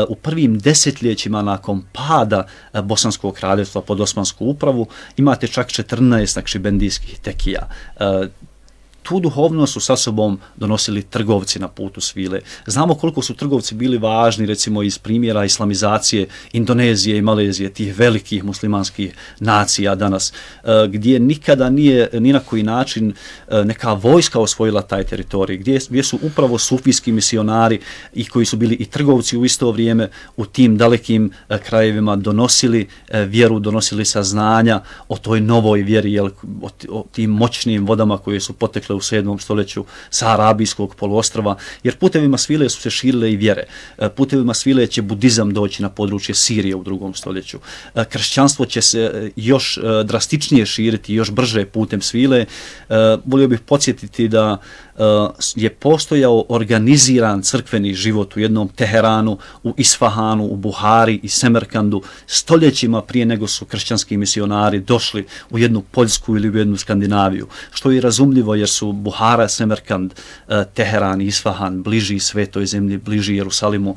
u prvim desetljećima nakon pada Bosanskog kraljevstva pod Osmansku upravu imate čak četrnaest nakšibendijskih tekija. Tu duhovnost su sa sobom donosili trgovci na putu svile. Znamo koliko su trgovci bili važni, recimo iz primjera islamizacije Indonezije i Malezije, tih velikih muslimanskih nacija danas, gdje nikada nije ni na koji način neka vojska osvojila taj teritorij, gdje, gdje su upravo sufijski misionari i koji su bili i trgovci u isto vrijeme u tim dalekim krajevima donosili vjeru, donosili saznanja o toj novoj vjeri, jel, o, o tim moćnim vodama koje su potekle u sedmom stoljeću sa Arabijskog poluostrva, jer putevima svile su se širile i vjere. Putevima svile će budizam doći na područje Sirije u drugom stoljeću. Kršćanstvo će se još drastičnije širiti, još brže putem svile. Volio bih podsjetiti da je postojao organiziran crkveni život u jednom Teheranu, u Isfahanu, u Buhari i Semerkandu stoljećima prije nego su kršćanski misionari došli u jednu Poljsku ili u jednu Skandinaviju, što je razumljivo jer su Buhara, Semerkand, Teheran i Isfahan bliži svetoj zemlji, bliži Jerusalimu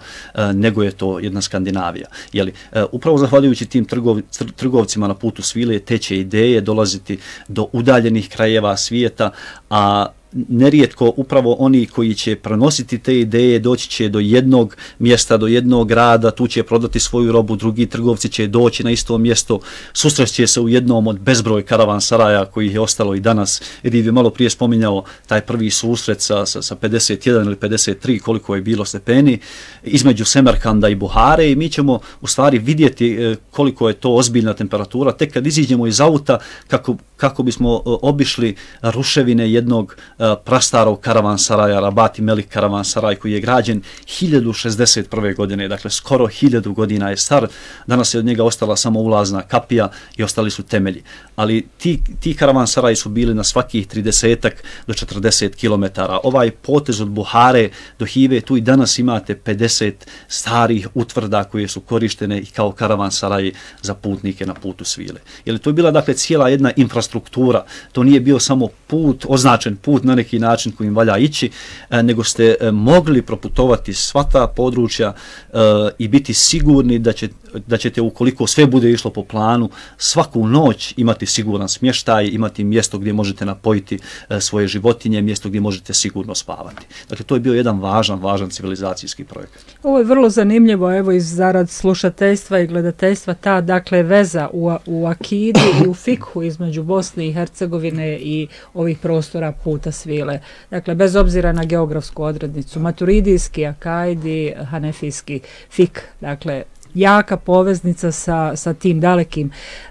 nego je to jedna Skandinavija. Jeli, upravo zahvaljujući tim trgov, trgovcima na putu svile te će ideje dolaziti do udaljenih krajeva svijeta, a nerijetko upravo oni koji će prenositi te ideje doći će do jednog mjesta, do jednog grada, tu će prodati svoju robu, drugi trgovci će doći na isto mjesto, susreće se u jednom od bezbroj karavansaraja koji je ostalo i danas. Jer je malo prije spominjao taj prvi susret sa, sa, sa pedeset jedan ili pedeset tri, koliko je bilo stepeni, između Semerkanda i Buhare, i mi ćemo u stvari vidjeti koliko je to ozbiljna temperatura tek kad iziđemo iz auta, kako kako bismo obišli ruševine jednog prastarog karavansaraja, Rabati Melik karavansaraj, koji je građen hiljadu šezdeset prve. godine, dakle skoro hiljadu godina je star, danas je od njega ostala samo ulazna kapija i ostali su temelji. Ali ti, ti karavansaraji su bili na svakih trideset do četrdeset kilometara. Ovaj potez od Buhare do Hive, tu i danas imate pedeset starih utvrda koje su korištene i kao karavansaraji za putnike na putu svile. Jer to je bila dakle cijela jedna infrastruktura, to nije bio samo put, označen put na neki način kojim valja ići, nego ste mogli proputovati sva ta područja uh, i biti sigurni da, će, da ćete, ukoliko sve bude išlo po planu, svaku noć imati siguran smještaj, imati mjesto gdje možete napojiti uh, svoje životinje, mjesto gdje možete sigurno spavati. Dakle, to je bio jedan važan, važan civilizacijski projekat. Ovo je vrlo zanimljivo, evo iz zarad slušateljstva i gledateljstva, ta dakle veza u, u akidi i u fikhu između Bosne i Hercegovine i ovih prostora puta svile. Dakle, bez obzira na geografsku odrednicu, maturidijski, akaidi, hanefijski fik, dakle, jaka poveznica sa, sa tim dalekim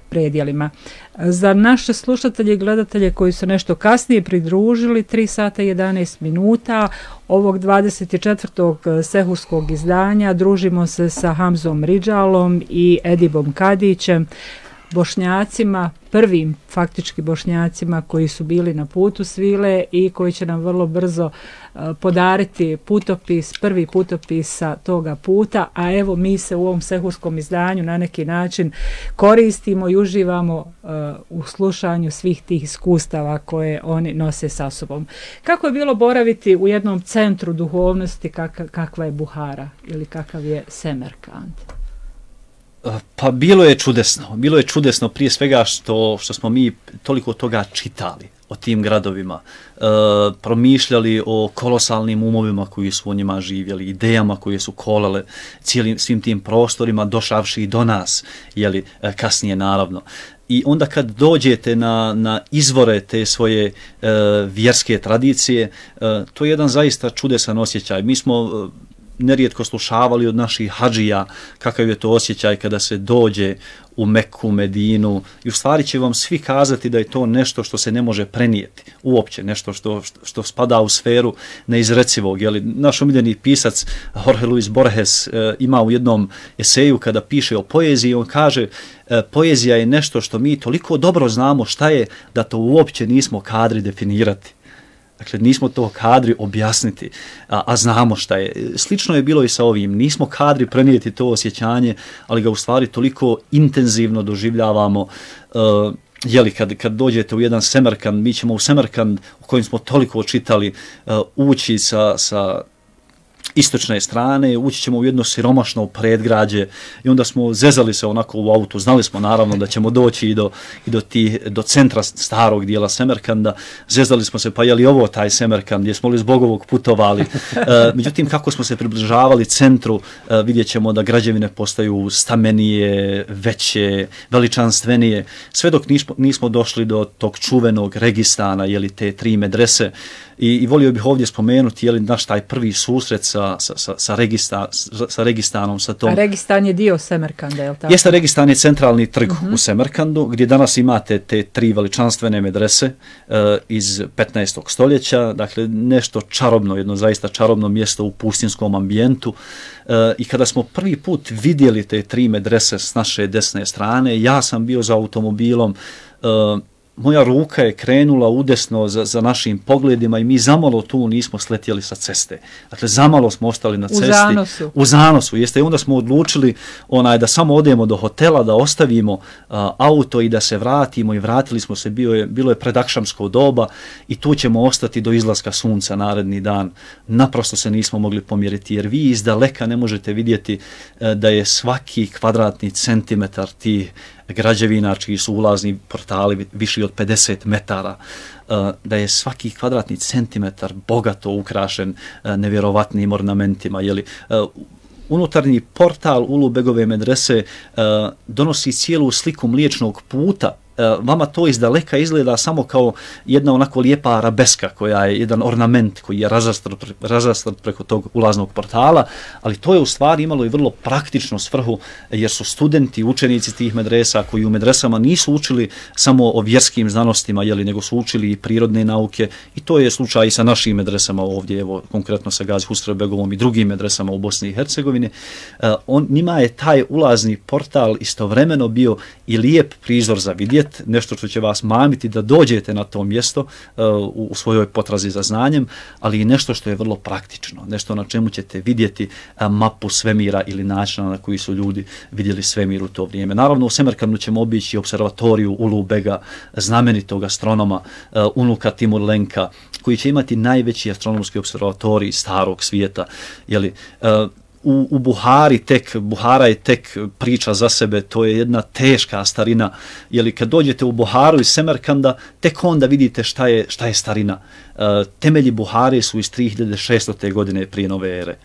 predjelima. Za naše slušatelje i gledatelje koji su nešto kasnije pridružili, tri sata i jedanaest minuta ovog dvadeset četvrtog sehurskog izdanja družimo se sa Hamzom Ridžalom i Edibom Kadićem, Bošnjacima, prvim faktički Bošnjacima koji su bili na putu svile i koji će nam vrlo brzo uh, podariti putopis, prvi putopis sa toga puta, a evo mi se u ovom sehurskom izdanju na neki način koristimo i uživamo uh, u slušanju svih tih iskustava koje oni nose sa sobom. Kako je bilo boraviti u jednom centru duhovnosti kak, kakva je Buhara ili kakav je Semerkand? Pa bilo je čudesno, bilo je čudesno prije svega što, što smo mi toliko toga čitali o tim gradovima, e, promišljali o kolosalnim umovima koji su u njima živjeli, idejama koje su kolale cijelim svim tim prostorima, došavši i do nas, jeli, kasnije naravno. I onda kad dođete na, na izvore te svoje e, vjerske tradicije, e, to je jedan zaista čudesan osjećaj. Mi smo e, nerijetko slušavali od naših hadžija kakav je to osjećaj kada se dođe u Meku, Medinu, i u stvari će vam svi kazati da je to nešto što se ne može prenijeti, uopće nešto što, što, što spada u sferu neizrecivog. Jeli, naš omiljeni pisac Jorge Luis Borges e, ima u jednom eseju kada piše o poeziji, on kaže e, poezija je nešto što mi toliko dobro znamo šta je da to uopće nismo kadri definirati. Dakle, nismo to kadri objasniti, a, a znamo šta je. Slično je bilo i sa ovim. Nismo kadri prenijeti to osjećanje, ali ga u stvari toliko intenzivno doživljavamo. Uh, jeli, kad, kad dođete u jedan Semerkand, mi ćemo u Semerkand, u kojem smo toliko čitali, uh, ući sa, sa istočne strane, ući ćemo u jedno siromašno predgrađe i onda smo zezali se onako u autu, znali smo naravno da ćemo doći i do, i do, ti, do centra starog dijela Semerkanda, zezali smo se pa je li ovo taj Semerkand, jesmo li zbog ovog putovali, e, međutim kako smo se približavali centru, e, vidjet ćemo da građevine postaju stamenije, veće, veličanstvenije, sve dok nismo, nismo došli do tog čuvenog Registana, jeli te tri medrese. I, i volio bih ovdje spomenuti je li naš taj prvi susret sa, sa, sa, sa, Regista, sa Registanom. Sa tom. A Registan je dio Semerkanda, je li tako? Jeste, Registan je centralni trg uh-huh. u Semerkandu, gdje danas imate te tri veličanstvene medrese uh, iz petnaestog stoljeća, dakle nešto čarobno, jedno zaista čarobno mjesto u pustinskom ambijentu. Uh, I kada smo prvi put vidjeli te tri medrese s naše desne strane, ja sam bio za automobilom, uh, moja ruka je krenula udesno za, za našim pogledima i mi zamalo tu nismo sletjeli sa ceste. Dakle, zamalo smo ostali na cesti. U zanosu. U zanosu, jeste. I onda smo odlučili onaj, da samo odemo do hotela, da ostavimo uh, auto i da se vratimo i vratili smo se, bio je, bilo je predakšamsko doba i tu ćemo ostati do izlaska sunca naredni dan. Naprosto se nismo mogli pomjeriti jer vi iz daleka ne možete vidjeti uh, da je svaki kvadratni centimetar tih građevina čiji su ulazni portali viši od pedeset metara, da je svaki kvadratni centimetar bogato ukrašen nevjerovatnim ornamentima. Jeli, unutarnji portal Ulubegove medrese donosi cijelu sliku Mliječnog puta vama to iz daleka izgleda samo kao jedna onako lijepa arabeska koja je jedan ornament koji je razastrt, razastrt preko tog ulaznog portala, ali to je u stvari imalo i vrlo praktičnu svrhu jer su studenti, učenici tih medresa koji u medresama nisu učili samo o vjerskim znanostima, jeli, nego su učili i prirodne nauke i to je slučaj i sa našim medresama ovdje, evo konkretno sa Gazi Husrev-begovom i drugim medresama u Bosni i Hercegovini. Uh, on, njima je taj ulazni portal istovremeno bio i lijep prizor za vidjet, nešto što će vas mamiti da dođete na to mjesto uh, u, u svojoj potrazi za znanjem, ali i nešto što je vrlo praktično, nešto na čemu ćete vidjeti uh, mapu svemira ili načina na koji su ljudi vidjeli svemir u to vrijeme. Naravno u Semerkandu ćemo obići observatoriju Ulu Bega, znamenitog astronoma uh, unuka Timur Lenka, koji će imati najveći astronomski observatorij starog svijeta. Jeli, uh, u, u Buhari tek, Buhara je tek priča za sebe, to je jedna teška starina. Jeli, kad dođete u Buharu iz Semerkanda, tek onda vidite šta je, šta je starina. Uh, temelji Buhare su iz tri hiljade šestote godine prije nove ere.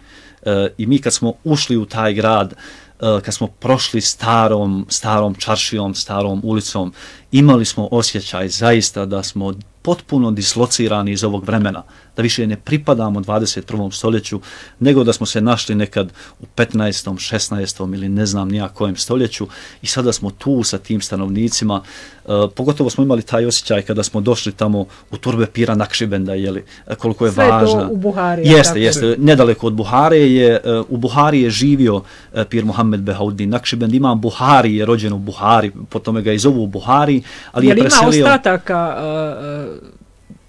Uh, I mi kad smo ušli u taj grad, uh, kad smo prošli starom, starom čaršijom, starom ulicom, imali smo osjećaj zaista da smo potpuno dislocirani iz ovog vremena, da više ne pripadamo dvadeset prvom stoljeću, nego da smo se našli nekad u petnaestom, šesnaestom ili ne znam nija kojem stoljeću i sada smo tu sa tim stanovnicima. E, pogotovo smo imali taj osjećaj kada smo došli tamo u turbe Pira Nakšibenda, jeli, koliko je sve važna. Sve to u Buhari. Jeste, jeste. Nedaleko od Buhare je, u Buhari je živio Pir Muhammed Behauddin Nakšibend, ima Buhari, je rođen u Buhari, po tome ga i zovu u Buhari, ali je, je preselio... ima ostataka uh,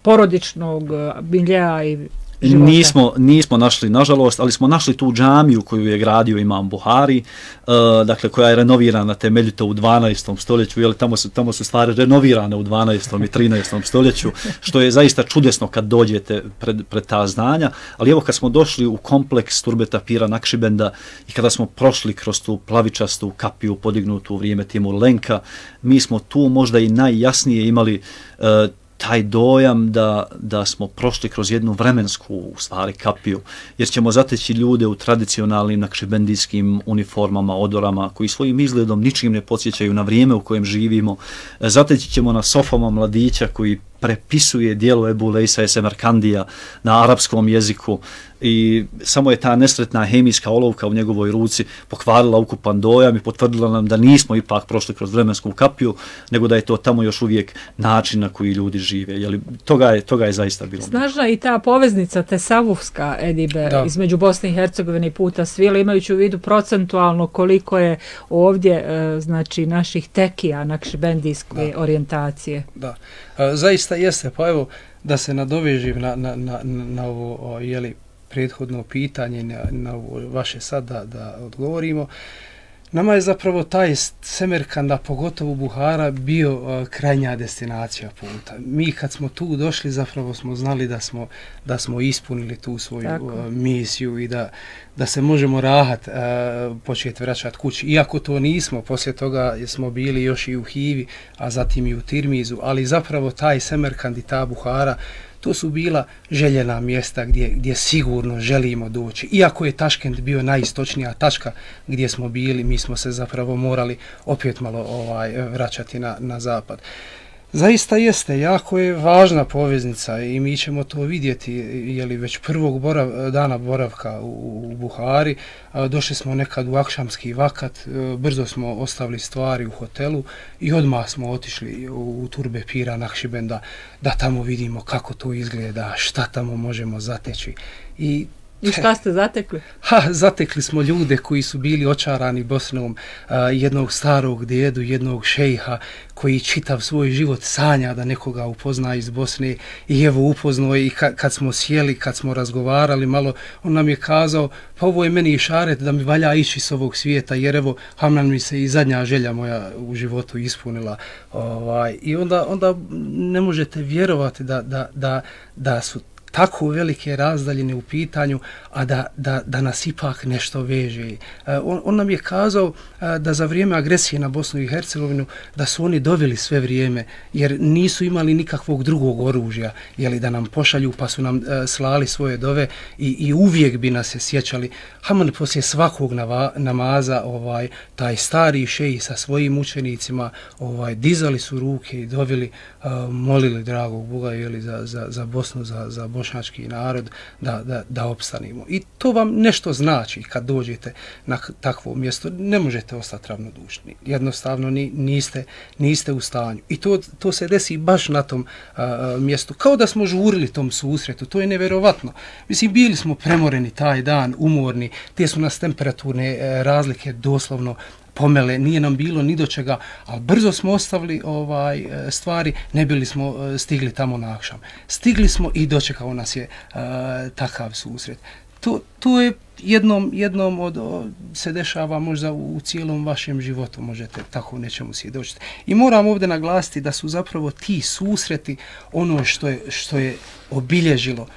porodičnog biljeja i života? Nismo, nismo našli, nažalost, ali smo našli tu džamiju koju je gradio imam Buhari, uh, dakle koja je renovirana temeljito u dvanaestom stoljeću, jel, tamo su, tamo su stvari renovirane u dvanaestom i trinaestom stoljeću, što je zaista čudesno kad dođete pred, pred ta zdanja, ali evo kad smo došli u kompleks turbeta Pira Nakšibenda i kada smo prošli kroz tu plavičastu kapiju podignutu u vrijeme Timur Lenka, mi smo tu možda i najjasnije imali uh, taj dojam da, da smo prošli kroz jednu vremensku u stvari kapiju, jer ćemo zateći ljude u tradicionalnim nakšibendijskim uniformama, odorama, koji svojim izgledom ničim ne podsjećaju na vrijeme u kojem živimo. Zateći ćemo na sofama mladića koji prepisuje dijelo Ebu Lejsa Semerkandija na arapskom jeziku i samo je ta nesretna hemijska olovka u njegovoj ruci pokvarila ukupan dojam i potvrdila nam da nismo ipak prošli kroz vremensku kapiju, nego da je to tamo još uvijek način na koji ljudi žive. Jeli, toga, je, toga je zaista bilo. Snažna i ta poveznica tesavufska, Edibe, da, između Bosne i Hercegovine i puta svile, imajući u vidu procentualno koliko je ovdje znači naših tekija nakšibendijske orijentacije. Da, zaista jeste, pa evo da se nadovežim na, na, na, na ovo jeli, prethodno pitanje, na, na ovo vaše sad da, da odgovorimo. Nama je zapravo taj Semerkanda, pogotovo Buhara, bio uh, krajnja destinacija puta. Mi kad smo tu došli zapravo smo znali da smo, da smo ispunili tu svoju uh, misiju i da, da se možemo rahat uh, početi vraćati kući. Iako to nismo, poslije toga smo bili još i u Hivi, a zatim i u Tirmizu, ali zapravo taj Semerkand i ta Buhara, to su bila željena mjesta gdje, gdje sigurno želimo doći. Iako je Taškent bio najistočnija tačka gdje smo bili, mi smo se zapravo morali opet malo ovaj, vraćati na, na zapad. Zaista jeste, jako je važna poveznica i mi ćemo to vidjeti, jeli već prvog borav, dana boravka u, u Buhari, došli smo nekad u akšamski vakat, brzo smo ostavili stvari u hotelu i odmah smo otišli u, u turbe Pira Nakšibenda da tamo vidimo kako to izgleda, šta tamo možemo zateći. I I šta ste zatekli? Ha, zatekli smo ljude koji su bili očarani Bosnom, a, jednog starog djedu, jednog šejha koji čitav svoj život sanja da nekoga upozna iz Bosne i evo upoznao i ka, kad smo sjeli, kad smo razgovarali malo, on nam je kazao pa ovo je meni išaret da mi valja ići s ovog svijeta jer evo hamnan mi se i zadnja želja moja u životu ispunila. Ovaj, I onda, onda ne možete vjerovati da, da, da, da su tako velike razdaljine u pitanju, a da, da, da nas ipak nešto veže. On, on nam je kazao da za vrijeme agresije na Bosnu i Hercegovinu da su oni doveli sve vrijeme, jer nisu imali nikakvog drugog oružja, jeli, da nam pošalju, pa su nam slali svoje dove i, i uvijek bi nas se sjećali. Haman poslije svakog nava, namaza, ovaj, taj stari šeji sa svojim učenicima, ovaj, dizali su ruke i dovili, uh, molili dragog Boga, jeli, za, za, za Bosnu, za, za bošnjački narod, da, da, da opstanimo. I to vam nešto znači kad dođete na takvo mjesto. Ne možete ostati ravnodušni. Jednostavno ni, niste, niste u stanju. I to, to se desi baš na tom uh, mjestu. Kao da smo žurili tom susretu. To je neverovatno. Mislim, bili smo premoreni taj dan, umorni. Te su nas temperaturne uh, razlike doslovno pomele, nije nam bilo ni do čega, ali brzo smo ostavili ovaj stvari, ne bili smo stigli tamo na akšam. Stigli smo i dočekao nas je uh, takav susret. To, to je jednom, jednom od, od, se dešava možda u, u cijelom vašem životu, možete tako nečemu svjedočiti. I moram ovdje naglasiti da su zapravo ti susreti ono što je, što je obilježilo,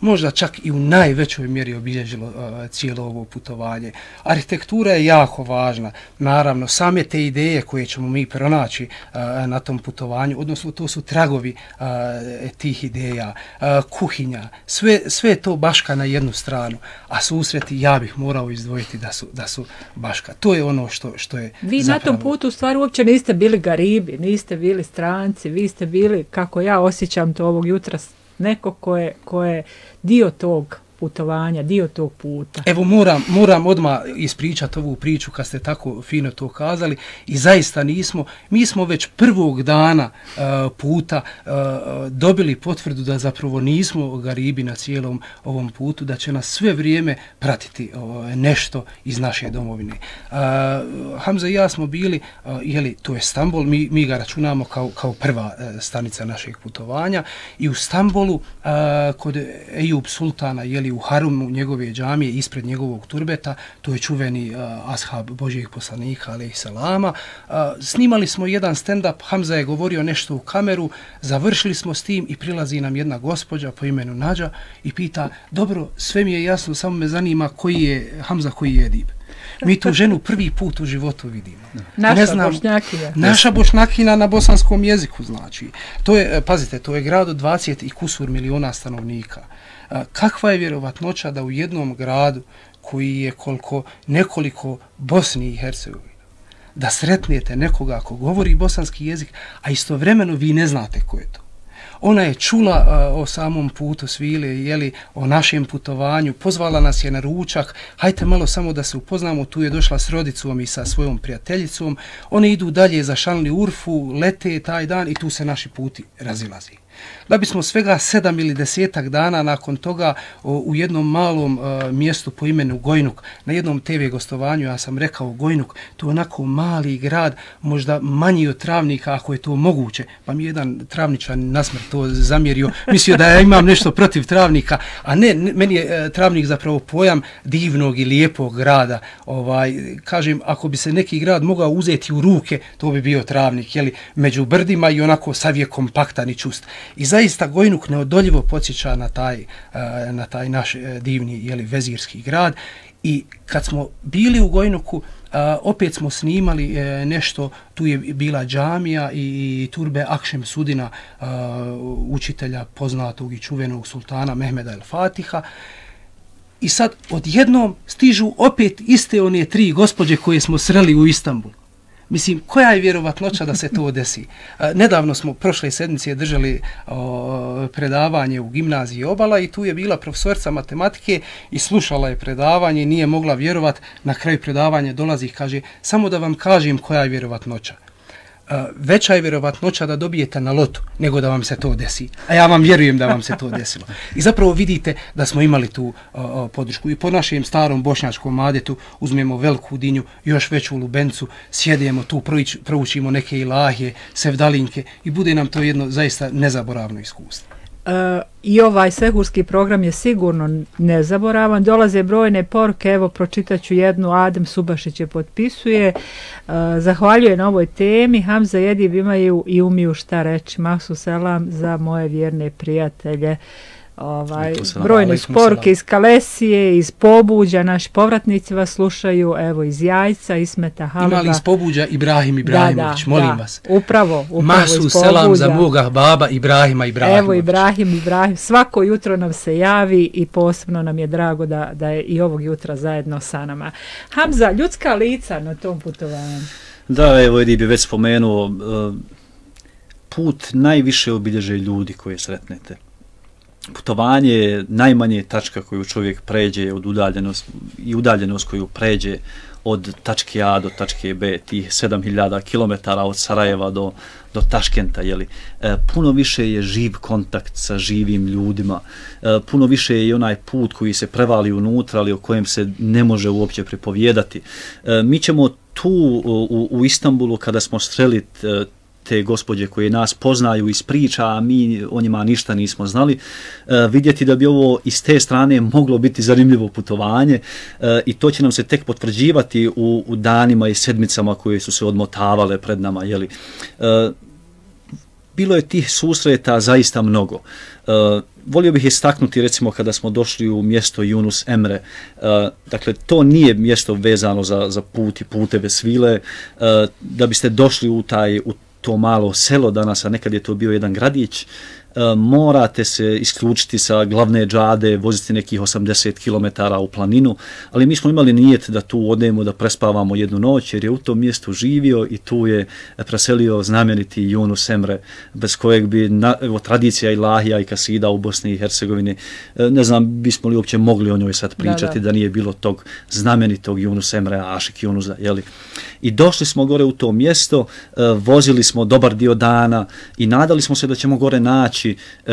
možda čak i u najvećoj mjeri obilježilo uh, cijelo ovo putovanje. Arhitektura je jako važna. Naravno, same te ideje koje ćemo mi pronaći uh, na tom putovanju, odnosno to su tragovi uh, tih ideja, uh, kuhinja, sve, sve to baška na jednu stranu, a susreti ja bih morao izdvojiti da su, da su baška. To je ono što, što je vi zapravo... na tom putu u stvari uopće niste bili garibi, niste bili stranci, vi ste bili, kako ja osjećam to ovog jutra, neko ko je, ko je dio tog putovanja, dio tog puta. Evo moram, moram odmah ispričati ovu priču kad ste tako fino to kazali i zaista nismo, mi smo već prvog dana uh, puta uh, dobili potvrdu da zapravo nismo garibi na cijelom ovom putu, da će nas sve vrijeme pratiti uh, nešto iz naše domovine. Uh, Hamza i ja smo bili, uh, jeli, to je Stambol, mi, mi ga računamo kao, kao prva uh, stanica našeg putovanja i u Stambolu uh, kod Ejub Sultana, jeli, u harumu njegove džamije ispred njegovog turbeta, to je čuveni uh, ashab Božijeg poslanika alejhi selama. Uh, snimali smo jedan stand-up, Hamza je govorio nešto u kameru, završili smo s tim i prilazi nam jedna gospođa po imenu Nađa i pita, dobro, sve mi je jasno, samo me zanima koji je Hamza, koji je edib. Mi tu ženu prvi put u životu vidimo. Naša ne znam, bošnjakina. Naša bošnjakina na bosanskom jeziku, znači. To je, pazite, to je grad od dvadeset i kusur miliona stanovnika. Kakva je vjerovatnoća da u jednom gradu koji je koliko nekoliko Bosni i Hercegovine, da sretnete nekoga ko govori bosanski jezik, a istovremeno vi ne znate ko je to. Ona je čula uh, o samom putu svile, jeli, o našem putovanju, pozvala nas je na ručak, hajte malo samo da se upoznamo, tu je došla s rodicom i sa svojom prijateljicom, one idu dalje za Šanli Urfu, lete taj dan i tu se naši puti razilazi. Da bismo svega sedam ili desetak dana nakon toga o, u jednom malom uh, mjestu po imenu Gojnuk, na jednom te ve gostovanju, ja sam rekao Gojnuk, to je onako mali grad, možda manji od Travnika ako je to moguće, pa mi jedan travničan nasmrt to zamjerio, mislio da ja imam nešto protiv Travnika, a ne, ne meni je uh, Travnik zapravo pojam divnog i lijepog grada. Ovaj, kažem, ako bi se neki grad mogao uzeti u ruke, to bi bio Travnik, jeli, među brdima i onako sav je kompaktan i čust. I zaista Gojnuk neodoljivo podsjeća na taj, na taj naš divni, jeli, vezirski grad. I kad smo bili u Gojnuku, opet smo snimali nešto, tu je bila džamija i turbe Akšem Sudina, učitelja poznatog i čuvenog sultana Mehmeda el Fatiha. I sad odjednom stižu opet iste one tri gospođe koje smo sreli u Istanbulu. Mislim, koja je vjerovatnoća da se to desi? Nedavno smo prošle sedmice držali o, predavanje u gimnaziji Obala i tu je bila profesorica matematike i slušala je predavanje i nije mogla vjerovat. Na kraju predavanja dolazi i kaže, samo da vam kažem koja je vjerovatnoća. Veća je vjerovatnoća da dobijete na lotu nego da vam se to desi. A ja vam vjerujem da vam se to desilo. I zapravo vidite da smo imali tu uh, podršku. I po našem starom bošnjačkom adetu uzmemo veliku dinju, još veću lubencu, sjedemo tu, proučimo neke ilahije, sevdalinke i bude nam to jedno zaista nezaboravno iskustvo. Uh, I ovaj sehurski program je sigurno nezaboravan. Dolaze brojne poruke, evo pročitaću jednu, Adem Subašić je potpisuje. Uh, zahvaljuje na ovoj temi. Hamza i Edib imaju i umiju šta reći. Mahsu selam za moje vjerne prijatelje. Ovaj, brojne sporke iz Kalesije, iz Pobuđa, naši povratnici vas slušaju, evo iz Jajca, Ismeta Haleba. Imali iz Pobuđa Ibrahim Ibrahimović, da, da, molim da, vas. Upravo, upravo Masu iz Pobuđa. selam za moga baba Ibrahima Ibrahimović. Evo Ibrahim Ibrahim, svako jutro nam se javi i posebno nam je drago da, da je i ovog jutra zajedno sa nama. Hamza, ljudska lica na tom putovanju. Da, evo Edi bi već spomenuo, put najviše obilježe ljudi koje sretnete. Putovanje je najmanje tačka koju čovjek pređe od udaljenost i udaljenost koju pređe od tačke A do tačke B, tih sedam hiljada kilometara od Sarajeva do, do Taškenta, jeli. E, puno više je živ kontakt sa živim ljudima, e, puno više je i onaj put koji se prevali unutra, ali o kojem se ne može uopće pripovijedati. E, mi ćemo tu u, u Istanbulu, kada smo sreli te gospođe koje nas poznaju iz priča, a mi o njima ništa nismo znali, e, vidjeti da bi ovo iz te strane moglo biti zanimljivo putovanje e, i to će nam se tek potvrđivati u, u danima i sedmicama koje su se odmotavale pred nama. Jeli. E, bilo je tih susreta zaista mnogo. E, volio bih istaknuti, recimo, kada smo došli u mjesto Yunus Emre, uh, dakle, to nije mjesto vezano za, za put i puteve svile, uh, da biste došli u taj, u to malo selo danas, a nekad je to bio jedan gradić, uh, morate se isključiti sa glavne džade, voziti nekih osamdeset kilometara u planinu, ali mi smo imali nijet da tu odemo, da prespavamo jednu noć, jer je u tom mjestu živio i tu je preselio znameniti Yunus Emre, bez kojeg bi na, evo, tradicija ilahija i kasida u Bosni i Hercegovini, ne znam, bismo li uopće mogli o njoj sad pričati, da, da. da nije bilo tog znamenitog Yunus Emre, Ašik Yunusa, jeli. I došli smo gore u to mjesto, vozili smo dobar dio dana i nadali smo se da ćemo gore naći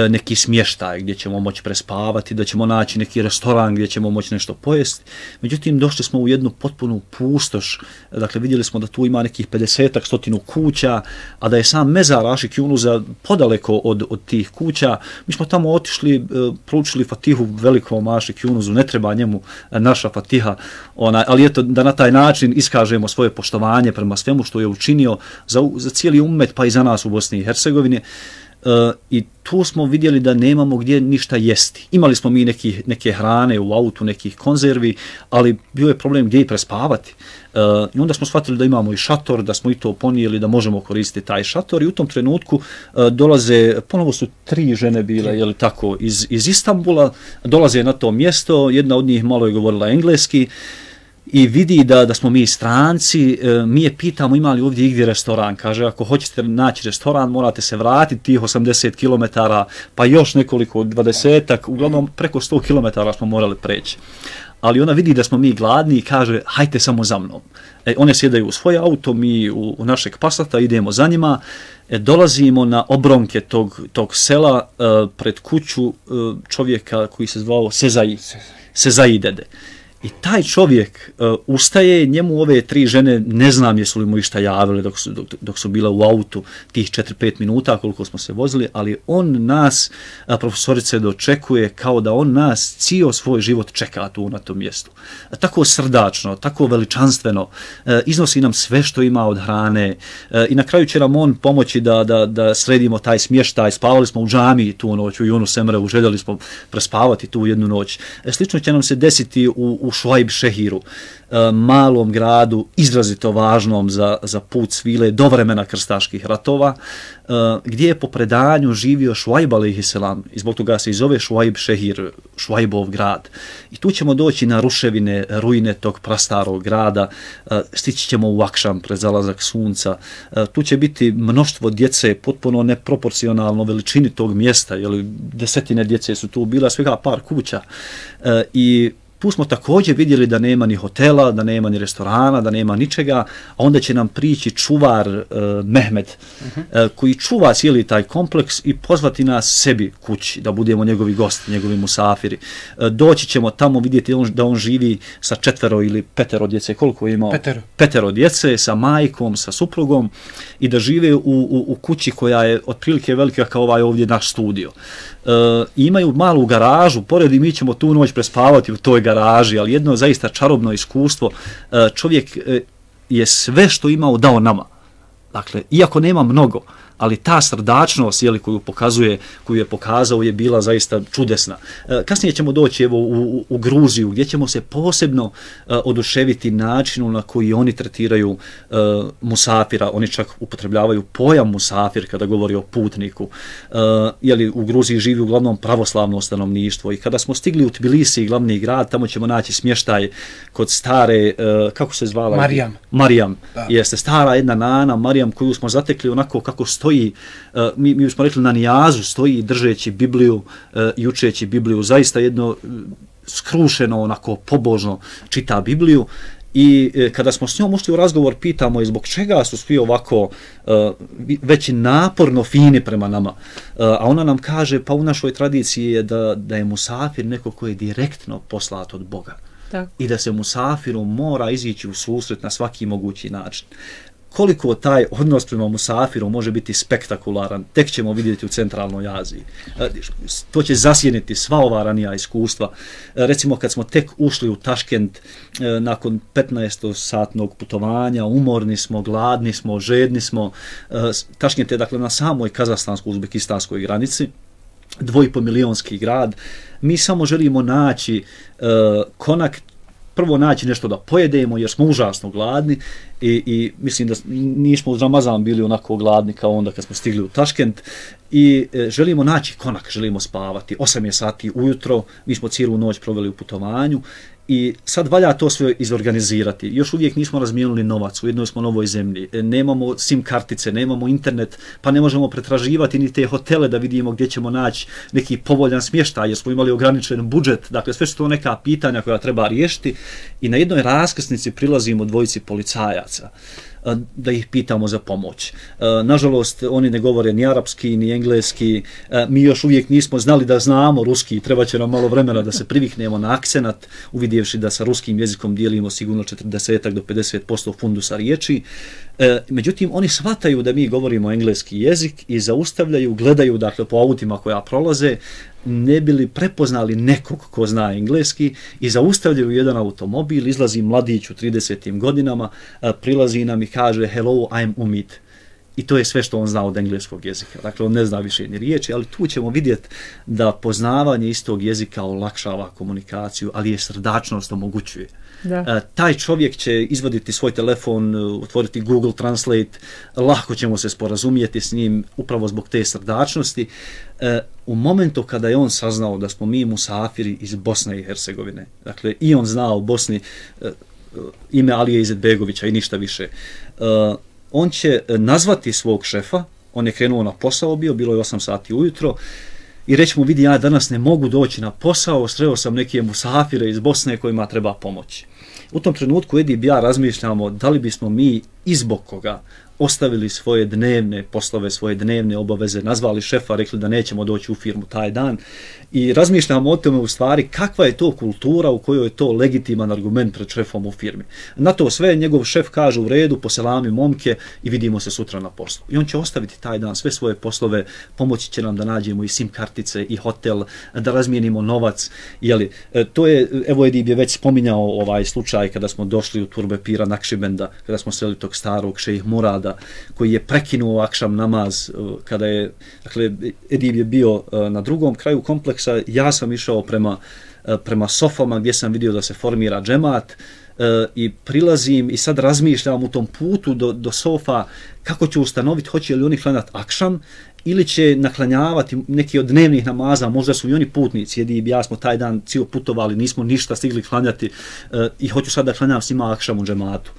neki smještaj gdje ćemo moći prespavati, da ćemo naći neki restoran gdje ćemo moći nešto pojesti. Međutim, došli smo u jednu potpunu pustoš, dakle vidjeli smo da tu ima nekih pedesetak stotinu kuća, a da je sam mezar Ašik Yunusa podaleko od, od tih kuća. Mi smo tamo otišli, proučili Fatihu velikom Ašik Yunusu, ne treba njemu naša Fatiha, ona, ali eto da na taj način iskažemo svoje poštovanje prema svemu što je učinio za, za cijeli ummet, pa i za nas u Bosni i Hercegovini. Uh, i tu smo vidjeli da nemamo gdje ništa jesti. Imali smo mi neki, neke hrane u autu, nekih konzervi, ali bio je problem gdje i prespavati. Uh, I onda smo shvatili da imamo i šator, da smo i to ponijeli, da možemo koristiti taj šator i u tom trenutku uh, dolaze, ponovo su tri žene bile, jeli tako, iz, iz Istanbula, dolaze na to mjesto, jedna od njih malo je govorila engleski, i vidi da, da smo mi stranci, e, mi je pitamo ima li ovdje igdje restoran, kaže ako hoćete naći restoran morate se vratiti tih osamdeset kilometara, pa još nekoliko dvadesetak, uglavnom preko sto kilometara smo morali preći. Ali ona vidi da smo mi gladni i kaže hajte samo za mnom. E, one sjedaju u svoj auto, mi u, u našeg Passata idemo za njima, e, dolazimo na obronke tog, tog sela e, pred kuću e, čovjeka koji se zvao Sezai, Sezai dede. I taj čovjek uh, ustaje, njemu ove tri žene, ne znam jesu li mu išta javili dok su, dok, dok su bila u autu tih četiri pet minuta koliko smo se vozili, ali on nas, uh, profesorice, dočekuje kao da on nas cijel svoj život čeka tu na tom mjestu. Uh, tako srdačno, tako veličanstveno, uh, iznosi nam sve što ima od hrane uh, i na kraju će nam on pomoći da, da, da sredimo taj smještaj. Spavali smo u džamiji tu noć, u Yunus Emreu, željeli smo prespavati tu jednu noć. Uh, slično će nam se desiti u, u Šuajb Šehiru, malom gradu, izrazito važnom za, za put svile do vremena krstaških ratova, gdje je po predanju živio Šuajb alejhiselam i zbog toga se i zove Šuajb Šehir, Šuajbov grad. I tu ćemo doći na ruševine, ruine tog prastarog grada, stići ćemo u Akšam pred zalazak sunca, tu će biti mnoštvo djece potpuno neproporcionalno veličini tog mjesta, jer desetine djece su tu bila, svega par kuća i tu smo također vidjeli da nema ni hotela, da nema ni restorana, da nema ničega, a onda će nam prići čuvar uh, Mehmed, uh-huh. uh, koji čuva cijeli taj kompleks i pozvati nas sebi kući, da budemo njegovi gosti, njegovi musafiri. Uh, doći ćemo tamo vidjeti on, da on živi sa četvero ili petero djece, koliko je imao? Petero. Petero djece, sa majkom, sa suprugom i da žive u, u, u kući koja je otprilike velika kao ovaj ovdje naš studio. Uh, imaju malu garažu, pored i mi ćemo tu noć prespavati u toj garaži, ali jedno zaista čarobno iskustvo. Uh, čovjek uh, je sve što imao dao nama. Dakle, iako nema mnogo, ali ta srdačnost jeli, koju pokazuje, koju je pokazao je bila zaista čudesna. E, kasnije ćemo doći evo, u, u, u Gruziju gdje ćemo se posebno e, oduševiti načinu na koji oni tretiraju e, musafira, oni čak upotrebljavaju pojam musafir kada govori o putniku. E, jeli, u Gruziji živi uglavnom pravoslavno stanovništvo i kada smo stigli u Tbilisi, glavni grad, tamo ćemo naći smještaj kod stare, e, kako se zvala? Marijam. Marijam, da. Jeste stara jedna nana, Marijam, koju smo zatekli onako kako stoji, uh, mi, mi smo rekli na nijazu, stoji držeći Bibliju uh, i učeći Bibliju, zaista jedno uh, skrušeno, onako pobožno čita Bibliju. I e, kada smo s njom ušli u razgovor, pitamo je zbog čega su svi ovako uh, već naporno fini prema nama. Uh, a ona nam kaže, pa u našoj tradiciji je da, da je musafir neko koji je direktno poslat od Boga. Tako. I da se musafiru mora izići u susret na svaki mogući način. Koliko taj odnos prema musafiru može biti spektakularan, tek ćemo vidjeti u centralnoj Aziji. To će zasjeniti sva ova ranija iskustva. Recimo kad smo tek ušli u Taškent nakon petnaestosatnog putovanja, umorni smo, gladni smo, žedni smo. Taškent je dakle na samoj kazahstansko-uzbekistanskoj granici, dvojpomilionski grad. Mi samo želimo naći konak, prvo naći nešto da pojedemo jer smo užasno gladni i, i mislim da nismo uz Ramazan bili onako gladni kao onda kad smo stigli u Taškent i e, želimo naći konak, želimo spavati. osam je sati ujutro, mi smo cijelu noć proveli u putovanju i sad valja to sve izorganizirati. Još uvijek nismo razmijenili novac, u jednoj smo novoj zemlji, nemamo sim kartice, nemamo internet, pa ne možemo pretraživati ni te hotele da vidimo gdje ćemo naći neki povoljan smještaj jer smo imali ograničen budžet. Dakle, sve su to neka pitanja koja treba riješiti i na jednoj raskrsnici prilazimo dvojici policajaca da ih pitamo za pomoć. Nažalost, oni ne govore ni arapski, ni engleski, mi još uvijek nismo znali da znamo ruski, treba će nam malo vremena da se priviknemo na akcenat, uvidjevši da sa ruskim jezikom dijelimo sigurno četrdeset do pedeset posto fundusa riječi. Međutim, oni shvataju da mi govorimo engleski jezik i zaustavljaju, gledaju dakle po autima koja prolaze, ne bili prepoznali nekog ko zna engleski i zaustavljaju jedan automobil, izlazi mladić u tridesetim godinama, prilazi nam i kaže hello, I'm Umid. I to je sve što on zna od engleskog jezika. Dakle, on ne zna više ni riječi, ali tu ćemo vidjeti da poznavanje istog jezika olakšava komunikaciju, ali je srdačnost omogućuje. Da. E, taj čovjek će izvaditi svoj telefon, otvoriti Google Translate, lako ćemo se sporazumijeti s njim upravo zbog te srdačnosti. E, u momentu kada je on saznao da smo mi musafiri iz Bosne i Hercegovine, dakle i on znao u Bosni e, ime Alije Izetbegovića i ništa više, e, on će nazvati svog šefa, on je krenuo na posao, bio, bilo je osam sati ujutro, i reći mu, vidi, ja danas ne mogu doći na posao, sreo sam neke musafire iz Bosne kojima treba pomoći. U tom trenutku Edi i ja razmišljamo da li bismo mi izbog koga ostavili svoje dnevne poslove, svoje dnevne obaveze, nazvali šefa, rekli da nećemo doći u firmu taj dan i razmišljamo o tome u stvari kakva je to kultura u kojoj je to legitiman argument pred šefom u firmi. Na to sve njegov šef kaže u redu, poselami momke i vidimo se sutra na poslu. I on će ostaviti taj dan sve svoje poslove, pomoći će nam da nađemo i sim kartice i hotel, da razmijenimo novac. Jeli, to je, evo Edib je već spominjao ovaj slučaj kada smo došli u Turbe Pira Nakšibenda, kada smo sreli tog starog šejh Murada, koji je prekinuo akšam namaz kada je, dakle, Edib je bio na drugom kraju kompleksa, ja sam išao prema, prema sofama gdje sam vidio da se formira džemat i prilazim i sad razmišljam u tom putu do, do sofa kako ću ustanoviti hoće li oni klanjati akšam ili će naklanjavati neki od dnevnih namaza, možda su i oni putnici, Edib i ja smo taj dan cijelo putovali, nismo ništa stigli klanjati i hoću sad da klanjam svima akšam u džematu.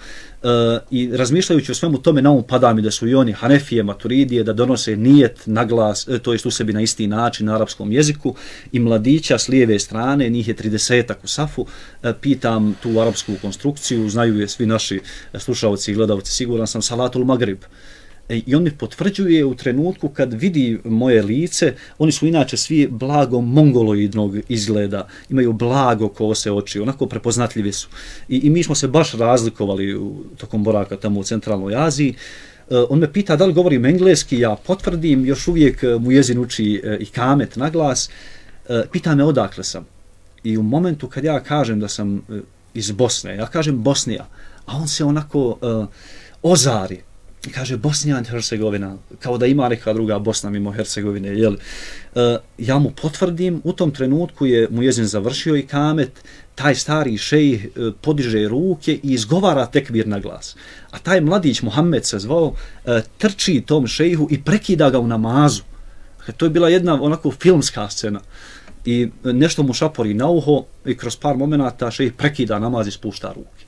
Uh, i razmišljajući o svemu tome na um pada mi da su i oni Hanefije, Maturidije, da donose nijet na glas, to jest u sebi na isti način na arapskom jeziku i mladića s lijeve strane, njih je tridesetak u safu, uh, pitam tu arapsku konstrukciju, znaju je svi naši slušalci i gledalci, siguran sam, Salatul Magrib. I on mi potvrđuje u trenutku kad vidi moje lice, oni su inače svi blago mongoloidnog izgleda, imaju blago kose oči, onako prepoznatljivi su. I, i mi smo se baš razlikovali u tokom boraka tamo u centralnoj Aziji. Uh, on me pita da li govorim engleski, ja potvrdim, još uvijek mu jezin uči uh, i kamet na glas. Uh, pita me odakle sam. I u momentu kad ja kažem da sam uh, iz Bosne, ja kažem Bosnija, a on se onako uh, ozari. kaže Bosnija i Hercegovina, kao da ima neka druga Bosna mimo Hercegovine, jel? E, ja mu potvrdim, u tom trenutku je muezin završio i kamet, taj stari šejh e, podiže ruke i izgovara tekbir na glas. A taj mladić, Muhammed se zvao, e, trči tom šejhu i prekida ga u namazu. Dakle, to je bila jedna onako filmska scena. I nešto mu šapori na uho i kroz par momenata šejh prekida namaz i spušta ruke.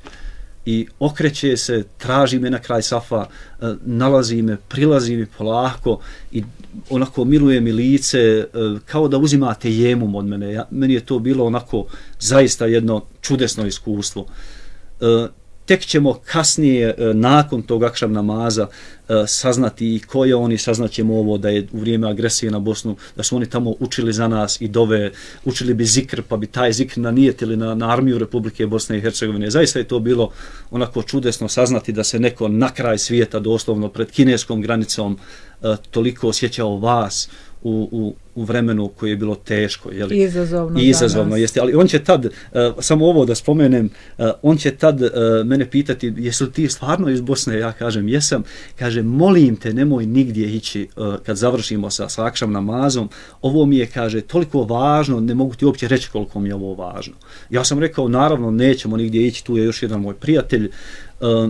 I okreće se, traži me na kraj safa, nalazi me, prilazi mi polako i onako miluje mi lice, kao da uzimate jemum od mene. Ja, meni je to bilo onako zaista jedno čudesno iskustvo. Tek ćemo kasnije, nakon tog akšam namaza, saznati i ko je on i saznaćemo ovo da je u vrijeme agresije na Bosnu, da su oni tamo učili za nas i dove, učili bi zikr, pa bi taj zikr nanijetili na, na armiju Republike Bosne i Hercegovine. Zaista je to bilo onako čudesno saznati da se neko na kraj svijeta, doslovno pred kineskom granicom, toliko osjećao vas u, u, u vremenu koje je bilo teško. Jeli? Izazovno. Izazovno, jeste. Ali on će tad, uh, samo ovo da spomenem, uh, on će tad uh, mene pitati, jesi li ti stvarno iz Bosne? Ja kažem, jesam. Kaže, molim te, nemoj nigdje ići uh, kad završimo sa, sa akšam namazom. Ovo mi je, kaže, toliko važno, ne mogu ti uopće reći koliko mi je ovo važno. Ja sam rekao, naravno, nećemo nigdje ići, tu je još jedan moj prijatelj. Uh,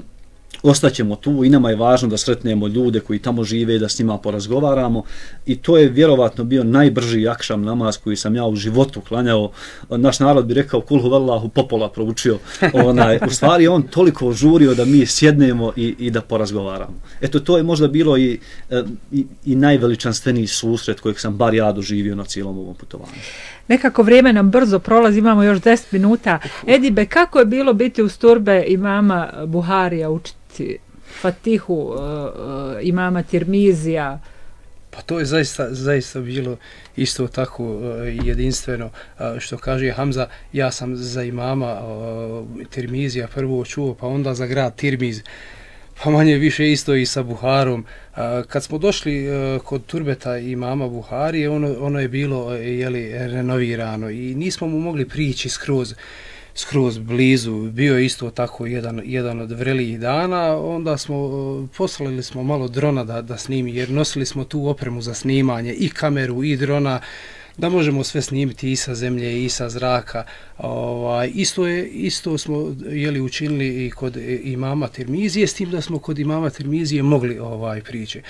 Ostaćemo tu i nama je važno da sretnemo ljude koji tamo žive, da s njima porazgovaramo i to je vjerovatno bio najbrži akšam namaz koji sam ja u životu klanjao. Naš narod bi rekao kul huvallahu popola proučio. Onaj, u stvari on toliko žurio da mi sjednemo i, i da porazgovaramo. Eto, to je možda bilo i, i, i najveličanstveniji susret kojeg sam bar ja doživio na cijelom ovom putovanju. Nekako vrijeme nam brzo prolazi, imamo još deset minuta. Edibe, kako je bilo biti uz turbe imama Buharija, učiti Fatihu, uh, uh, imama Tirmizija? Pa to je zaista, zaista bilo isto tako uh, jedinstveno. Uh, što kaže Hamza, ja sam za imama uh, Tirmizija prvo čuo, pa onda za grad Tirmiz. Pa manje više isto i sa Buharom. Kad smo došli kod turbeta imama Buharije, ono, ono je bilo jeli, renovirano i nismo mu mogli prići skroz, skroz blizu. Bio je isto tako jedan, jedan od vrelijih dana. Onda smo poslali smo malo drona da, da snimi, jer nosili smo tu opremu za snimanje, i kameru i drona, da možemo sve snimiti i sa zemlje i sa zraka. Ovaj, isto, je, isto smo jeli, učinili i kod imama Tirmizije, s tim da smo kod imama Tirmizije mogli ovaj, prići.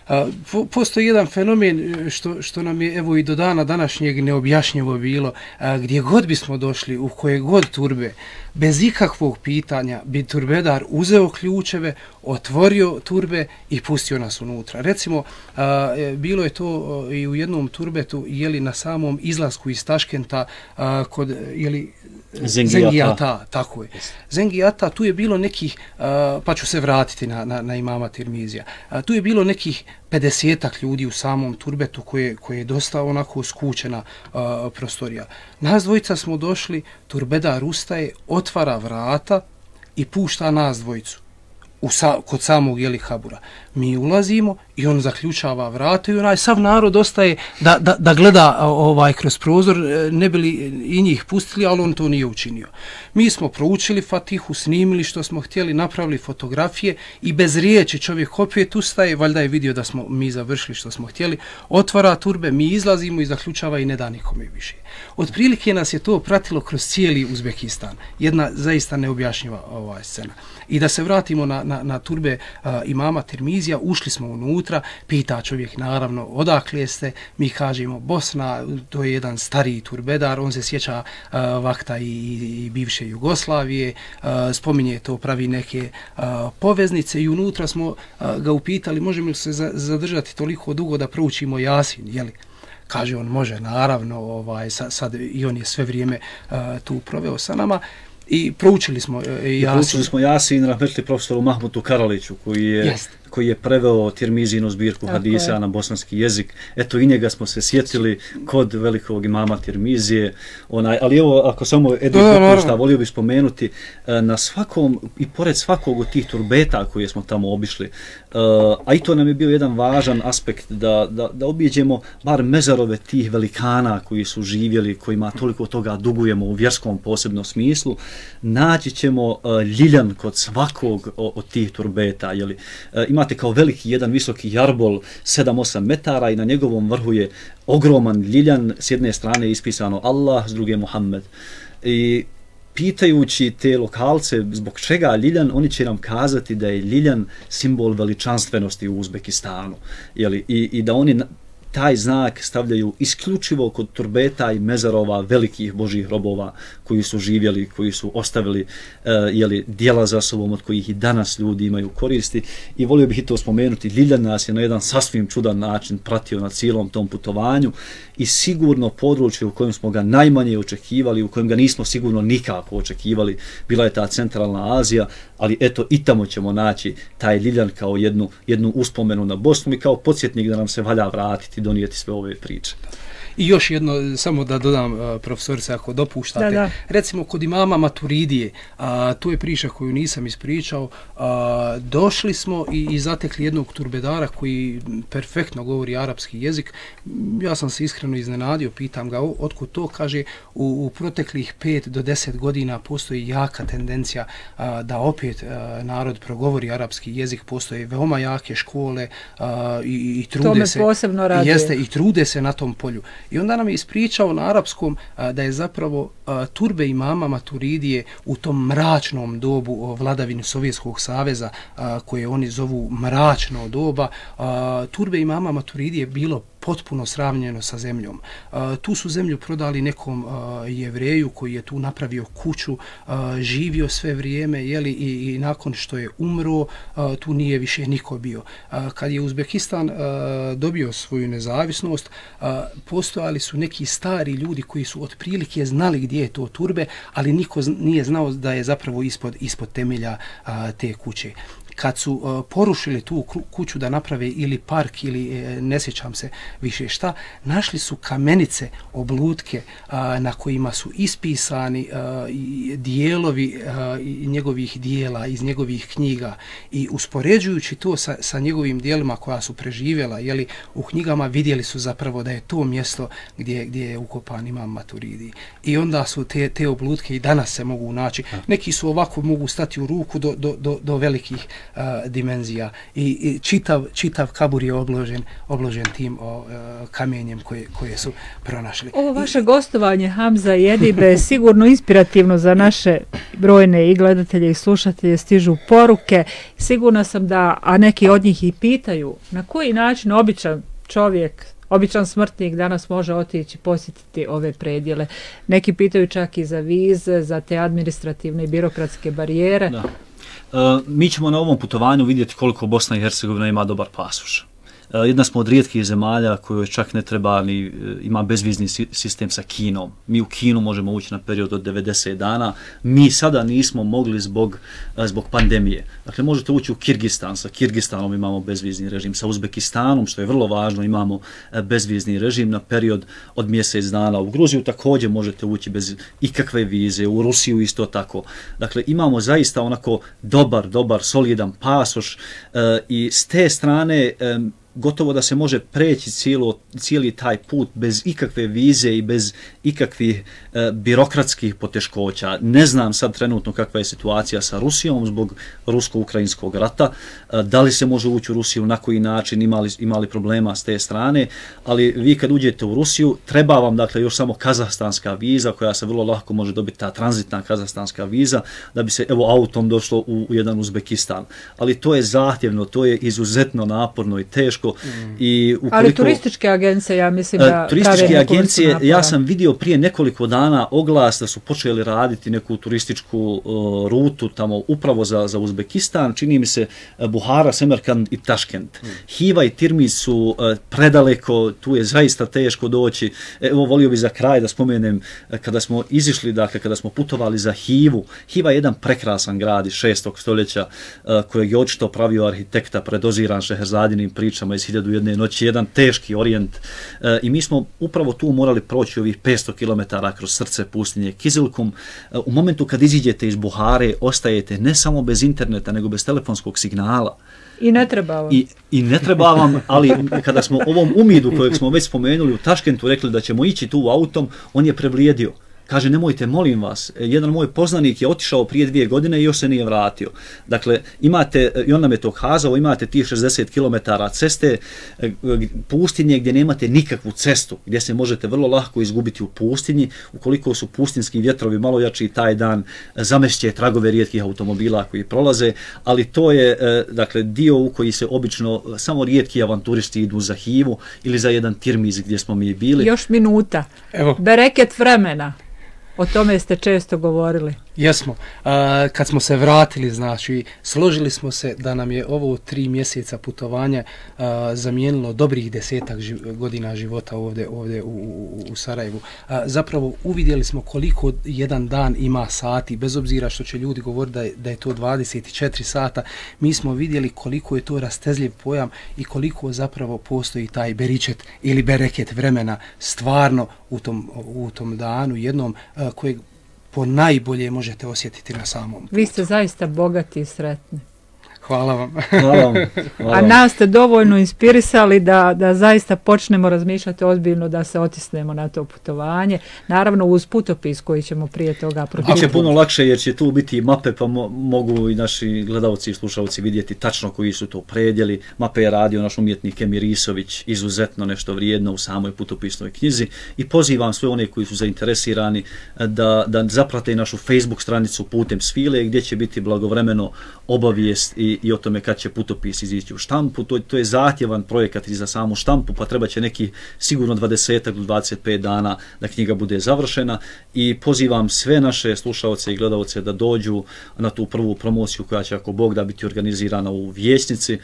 A, po, postoji jedan fenomen što, što nam je evo i do dana današnjeg neobjašnjivo bilo, a, gdje god bismo došli, u koje god turbe, bez ikakvog pitanja bi turbedar uzeo ključeve, otvorio turbe i pustio nas unutra. Recimo, a, bilo je to a, i u jednom turbetu, jeli na samom izlasku iz Taškenta, a, kod, jeli, Zengijata. Zengijata, tako je. Zengijata, tu je bilo nekih, uh, pa ću se vratiti na, na, na imama Tirmizija, uh, tu je bilo nekih pedesetak ljudi u samom turbetu koje, koje je dosta onako skučena uh, prostorija. Nas dvojica smo došli, turbedar ustaje, otvara vrata i pušta nas dvojicu u sa, kod samog jeli habura. Mi ulazimo i on zaključava vrata i onaj sav narod ostaje da, da, da gleda ovaj kroz prozor, ne bili i njih pustili, ali on to nije učinio. Mi smo proučili Fatihu, snimili što smo htjeli, napravili fotografije i bez riječi čovjek opet ustaje, valjda je vidio da smo mi završili što smo htjeli, otvara turbe, mi izlazimo i zaključava i ne da nikome više. Otprilike nas je to pratilo kroz cijeli Uzbekistan. Jedna zaista neobjašnjiva ova scena. I da se vratimo na, na, na turbe uh, imama Tirmizija, ušli smo unutra, pita čovjek naravno odakle ste, mi kažemo Bosna, to je jedan stariji turbedar, on se sjeća uh, vakta i, i bivše Jugoslavije, uh, spominje to, pravi neke uh, poveznice i unutra smo uh, ga upitali možemo li se za, zadržati toliko dugo da proučimo Jasin, jeli? Kaže on može, naravno, ovaj, sad, sad i on je sve vrijeme uh, tu proveo sa nama. I proučili smo uh, Jasin. Proučili smo Jasin, rahmetli profesoru Mahmutu Karaliću, koji je, yes. koji je preveo Tirmizinu zbirku hadisa je. na bosanski jezik. Eto, i njega smo se sjetili kod velikog imama Tirmizije. Onaj, ali evo, ako samo Edip dopušta, volio bih spomenuti, na svakom, i pored svakog od tih turbeta koje smo tamo obišli, a i to nam je bio jedan važan aspekt da, da, da objeđemo bar mezarove tih velikana koji su živjeli, kojima toliko toga dugujemo u vjerskom posebnom smislu, naći ćemo ljiljan kod svakog od tih turbeta. Jeli. imate kao veliki jedan visoki jarbol sedam osam metara i na njegovom vrhu je ogroman ljiljan, s jedne strane je ispisano Allah, s druge Muhammed. I pitajući te lokalce zbog čega ljiljan, oni će nam kazati da je ljiljan simbol veličanstvenosti u Uzbekistanu. Jeli, i, i da oni taj znak stavljaju isključivo kod turbeta i mezarova velikih božjih robova koji su živjeli, koji su ostavili uh, jeli, dijela za sobom od kojih i danas ljudi imaju koristi. I volio bih i to spomenuti, ljiljan nas je na jedan sasvim čudan način pratio na cijelom tom putovanju i sigurno područje u kojem smo ga najmanje očekivali, u kojem ga nismo sigurno nikako očekivali, bila je ta centralna Azija, ali eto i tamo ćemo naći taj ljiljan kao jednu, jednu uspomenu na Bosnu i kao podsjetnik da nam se valja vratiti, donijeti sve ove priče. I još jedno, samo da dodam, uh, profesorice, ako dopuštate, da, da. Recimo kod imama Maturidije, a, to je priča koju nisam ispričao, a, došli smo i, i zatekli jednog turbedara koji perfektno govori arapski jezik. Ja sam se iskreno iznenadio, pitam ga otkud to, kaže u, u proteklih pet do deset godina postoji jaka tendencija a, da opet a, narod progovori arapski jezik, postoje veoma jake škole a, i, i trude to me se, posebno raduje. Jeste, i trude se na tom polju. I onda nam je ispričao na arapskom a, da je zapravo a, turbe imama Maturidije u tom mračnom dobu vladavine Sovjetskog saveza, a, koje oni zovu mračno doba, a, turbe imama Maturidije bilo potpuno sravnjeno sa zemljom. A, tu su zemlju prodali nekom a, jevreju koji je tu napravio kuću, a, živio sve vrijeme, jeli, i, i nakon što je umro, a, tu nije više niko bio. A, kad je Uzbekistan a, dobio svoju nezavisnost, a, postojali su neki stari ljudi koji su otprilike znali gdje je to turbe, ali niko nije znao da je zapravo ispod, ispod temelja a, te kuće. Kad su uh, porušili tu kuću da naprave ili park ili e, ne sjećam se više šta, našli su kamenice, oblutke uh, na kojima su ispisani uh, i dijelovi uh, njegovih dijela iz njegovih knjiga i uspoređujući to sa, sa njegovim dijelima koja su preživjela, jeli, u knjigama vidjeli su zapravo da je to mjesto gdje, gdje je ukopan imam Maturidi. I onda su te, te oblutke i danas se mogu naći. Neki su ovako mogu stati u ruku do, do, do, do velikih Uh, dimenzija i, i čitav, čitav kabur je obložen, obložen tim o, uh, kamenjem koje, koje su pronašli. Ovo vaše I, gostovanje Hamza i Edibe je sigurno inspirativno za naše brojne i gledatelje i slušatelje, stižu poruke. Sigurna sam da, a neki od njih i pitaju, na koji način običan čovjek, običan smrtnik danas može otići posjetiti ove predjele. Neki pitaju čak i za vize, za te administrativne i birokratske barijere. Da. Uh, mi ćemo na ovom putovanju vidjeti koliko Bosna i Hercegovina ima dobar pasoš. Uh, jedna smo od rijetkih zemalja kojoj čak ne treba ni, uh, ima bezvizni si, sistem sa Kinom. Mi u Kinu možemo ući na period od devedeset dana. Mi sada nismo mogli zbog, uh, zbog pandemije. Dakle, možete ući u Kirgistan. Sa Kirgistanom imamo bezvizni režim. Sa Uzbekistanom, što je vrlo važno, imamo uh, bezvizni režim na period od mjesec dana. U Gruziju također možete ući bez ikakve vize. U Rusiju isto tako. Dakle, imamo zaista onako dobar, dobar, solidan pasoš uh, i s te strane um, gotovo da se može preći cijelo, cijeli taj put bez ikakve vize i bez ikakvih e, birokratskih poteškoća. Ne znam sad trenutno kakva je situacija sa Rusijom zbog rusko-ukrajinskog rata, e, da li se može ući u Rusiju, na koji način, imali, imali problema s te strane, ali vi kad uđete u Rusiju, treba vam dakle još samo kazahstanska viza koja se vrlo lako može dobiti, ta tranzitna kazahstanska viza, da bi se evo autom došlo u, u jedan Uzbekistan. Ali to je zahtjevno, to je izuzetno naporno i teško. Mm. I ukoliko, ali turističke agencije, ja mislim da turističke agencije, ja sam vidio prije nekoliko dana oglas da su počeli raditi neku turističku uh, rutu tamo upravo za, za Uzbekistan, čini mi se uh, Buhara, Semerkand i Taškent. Mm. Hiva i Tirmiz su uh, predaleko, tu je zaista teško doći. Evo, volio bi za kraj da spomenem, uh, kada smo izišli, dakle, kada smo putovali za Hivu, Hiva je jedan prekrasan grad iz šestog stoljeća uh, kojeg je očito pravio arhitekta predoziran Šeherzadinim pričama iz hiljadu jedne noći, jedan teški orijent e, i mi smo upravo tu morali proći ovih petsto kilometara kroz srce pustinje Kizilkum. E, u momentu kad iziđete iz Buhare, ostajete ne samo bez interneta, nego bez telefonskog signala. I ne treba vam. I, i ne treba vam, ali kada smo ovom umidu kojeg smo već spomenuli u Taškentu rekli da ćemo ići tu autom, on je prevlijedio. Kaže, nemojte, molim vas, jedan moj poznanik je otišao prije dvije godine i još se nije vratio. Dakle, imate, i on nam je to kazao, imate tih šezdeset kilometara ceste, pustinje gdje nemate nikakvu cestu, gdje se možete vrlo lako izgubiti u pustinji, ukoliko su pustinski vjetrovi malo jači taj dan, zamešće tragove rijetkih automobila koji prolaze, ali to je, dakle, dio u koji se obično samo rijetki avanturisti idu za Hivu ili za jedan tirmiz gdje smo mi bili. Još minuta. Evo. Bereket vremena. O tome ste često govorili. Jesmo. A, kad smo se vratili, znači, složili smo se da nam je ovo tri mjeseca putovanja a, zamijenilo dobrih desetak živ, godina života ovdje, ovdje u, u, u Sarajevu. A, zapravo uvidjeli smo koliko jedan dan ima sati, bez obzira što će ljudi govoriti da je, da je to dvadeset četiri sata, mi smo vidjeli koliko je to rastezljiv pojam i koliko zapravo postoji taj beričet ili bereket vremena stvarno u tom, u tom danu jednom a, kojeg po najbolje možete osjetiti na samom. Vi ste zaista bogati i sretni. Hvala vam. Hvala vam. Hvala A nas ste dovoljno inspirisali da, da zaista počnemo razmišljati ozbiljno da se otisnemo na to putovanje. Naravno uz putopis koji ćemo prije toga pročitati. Biće puno lakše jer će tu biti mape pa mo mogu i naši gledalci i slušalci vidjeti tačno koji su to predjeli. Mape je radio naš umjetnik Emir Isović, izuzetno nešto vrijedno u samoj putopisnoj knjizi i pozivam sve one koji su zainteresirani da, da zaprate našu Facebook stranicu Putem svile gdje će biti blagovremeno obavijest i i o tome kad će putopis izići u štampu. To, to je zahtjevan projekat i za samu štampu, pa treba će neki sigurno dvadeset do dvadeset pet dana da knjiga bude završena i pozivam sve naše slušalce i gledalce da dođu na tu prvu promociju koja će, ako Bog da, biti organizirana u Vijećnici. E,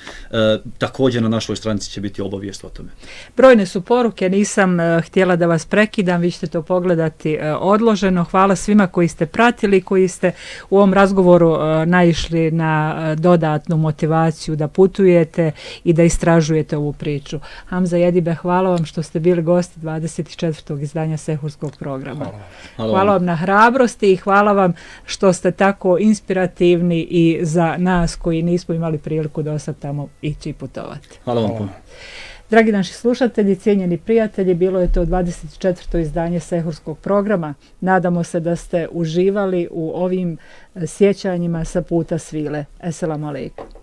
također na našoj stranici će biti obavijest o tome. Brojne su poruke, nisam uh, htjela da vas prekidam, vi ćete to pogledati uh, odloženo. Hvala svima koji ste pratili, koji ste u ovom razgovoru uh, naišli na uh, dodatnu motivaciju da putujete i da istražujete ovu priču. Hamza Jedibe, hvala vam što ste bili gosti dvadeset četvrtog izdanja Sehurskog programa. Hvala. Hvala, hvala vam na hrabrosti i hvala vam što ste tako inspirativni i za nas koji nismo imali priliku do sad tamo ići i putovati. Hvala vam puno. Dragi naši slušatelji, cijenjeni prijatelji, bilo je to dvadeset četvrto izdanje Sehurskog programa. Nadamo se da ste uživali u ovim sjećanjima sa puta svile. Esselamu alejkum.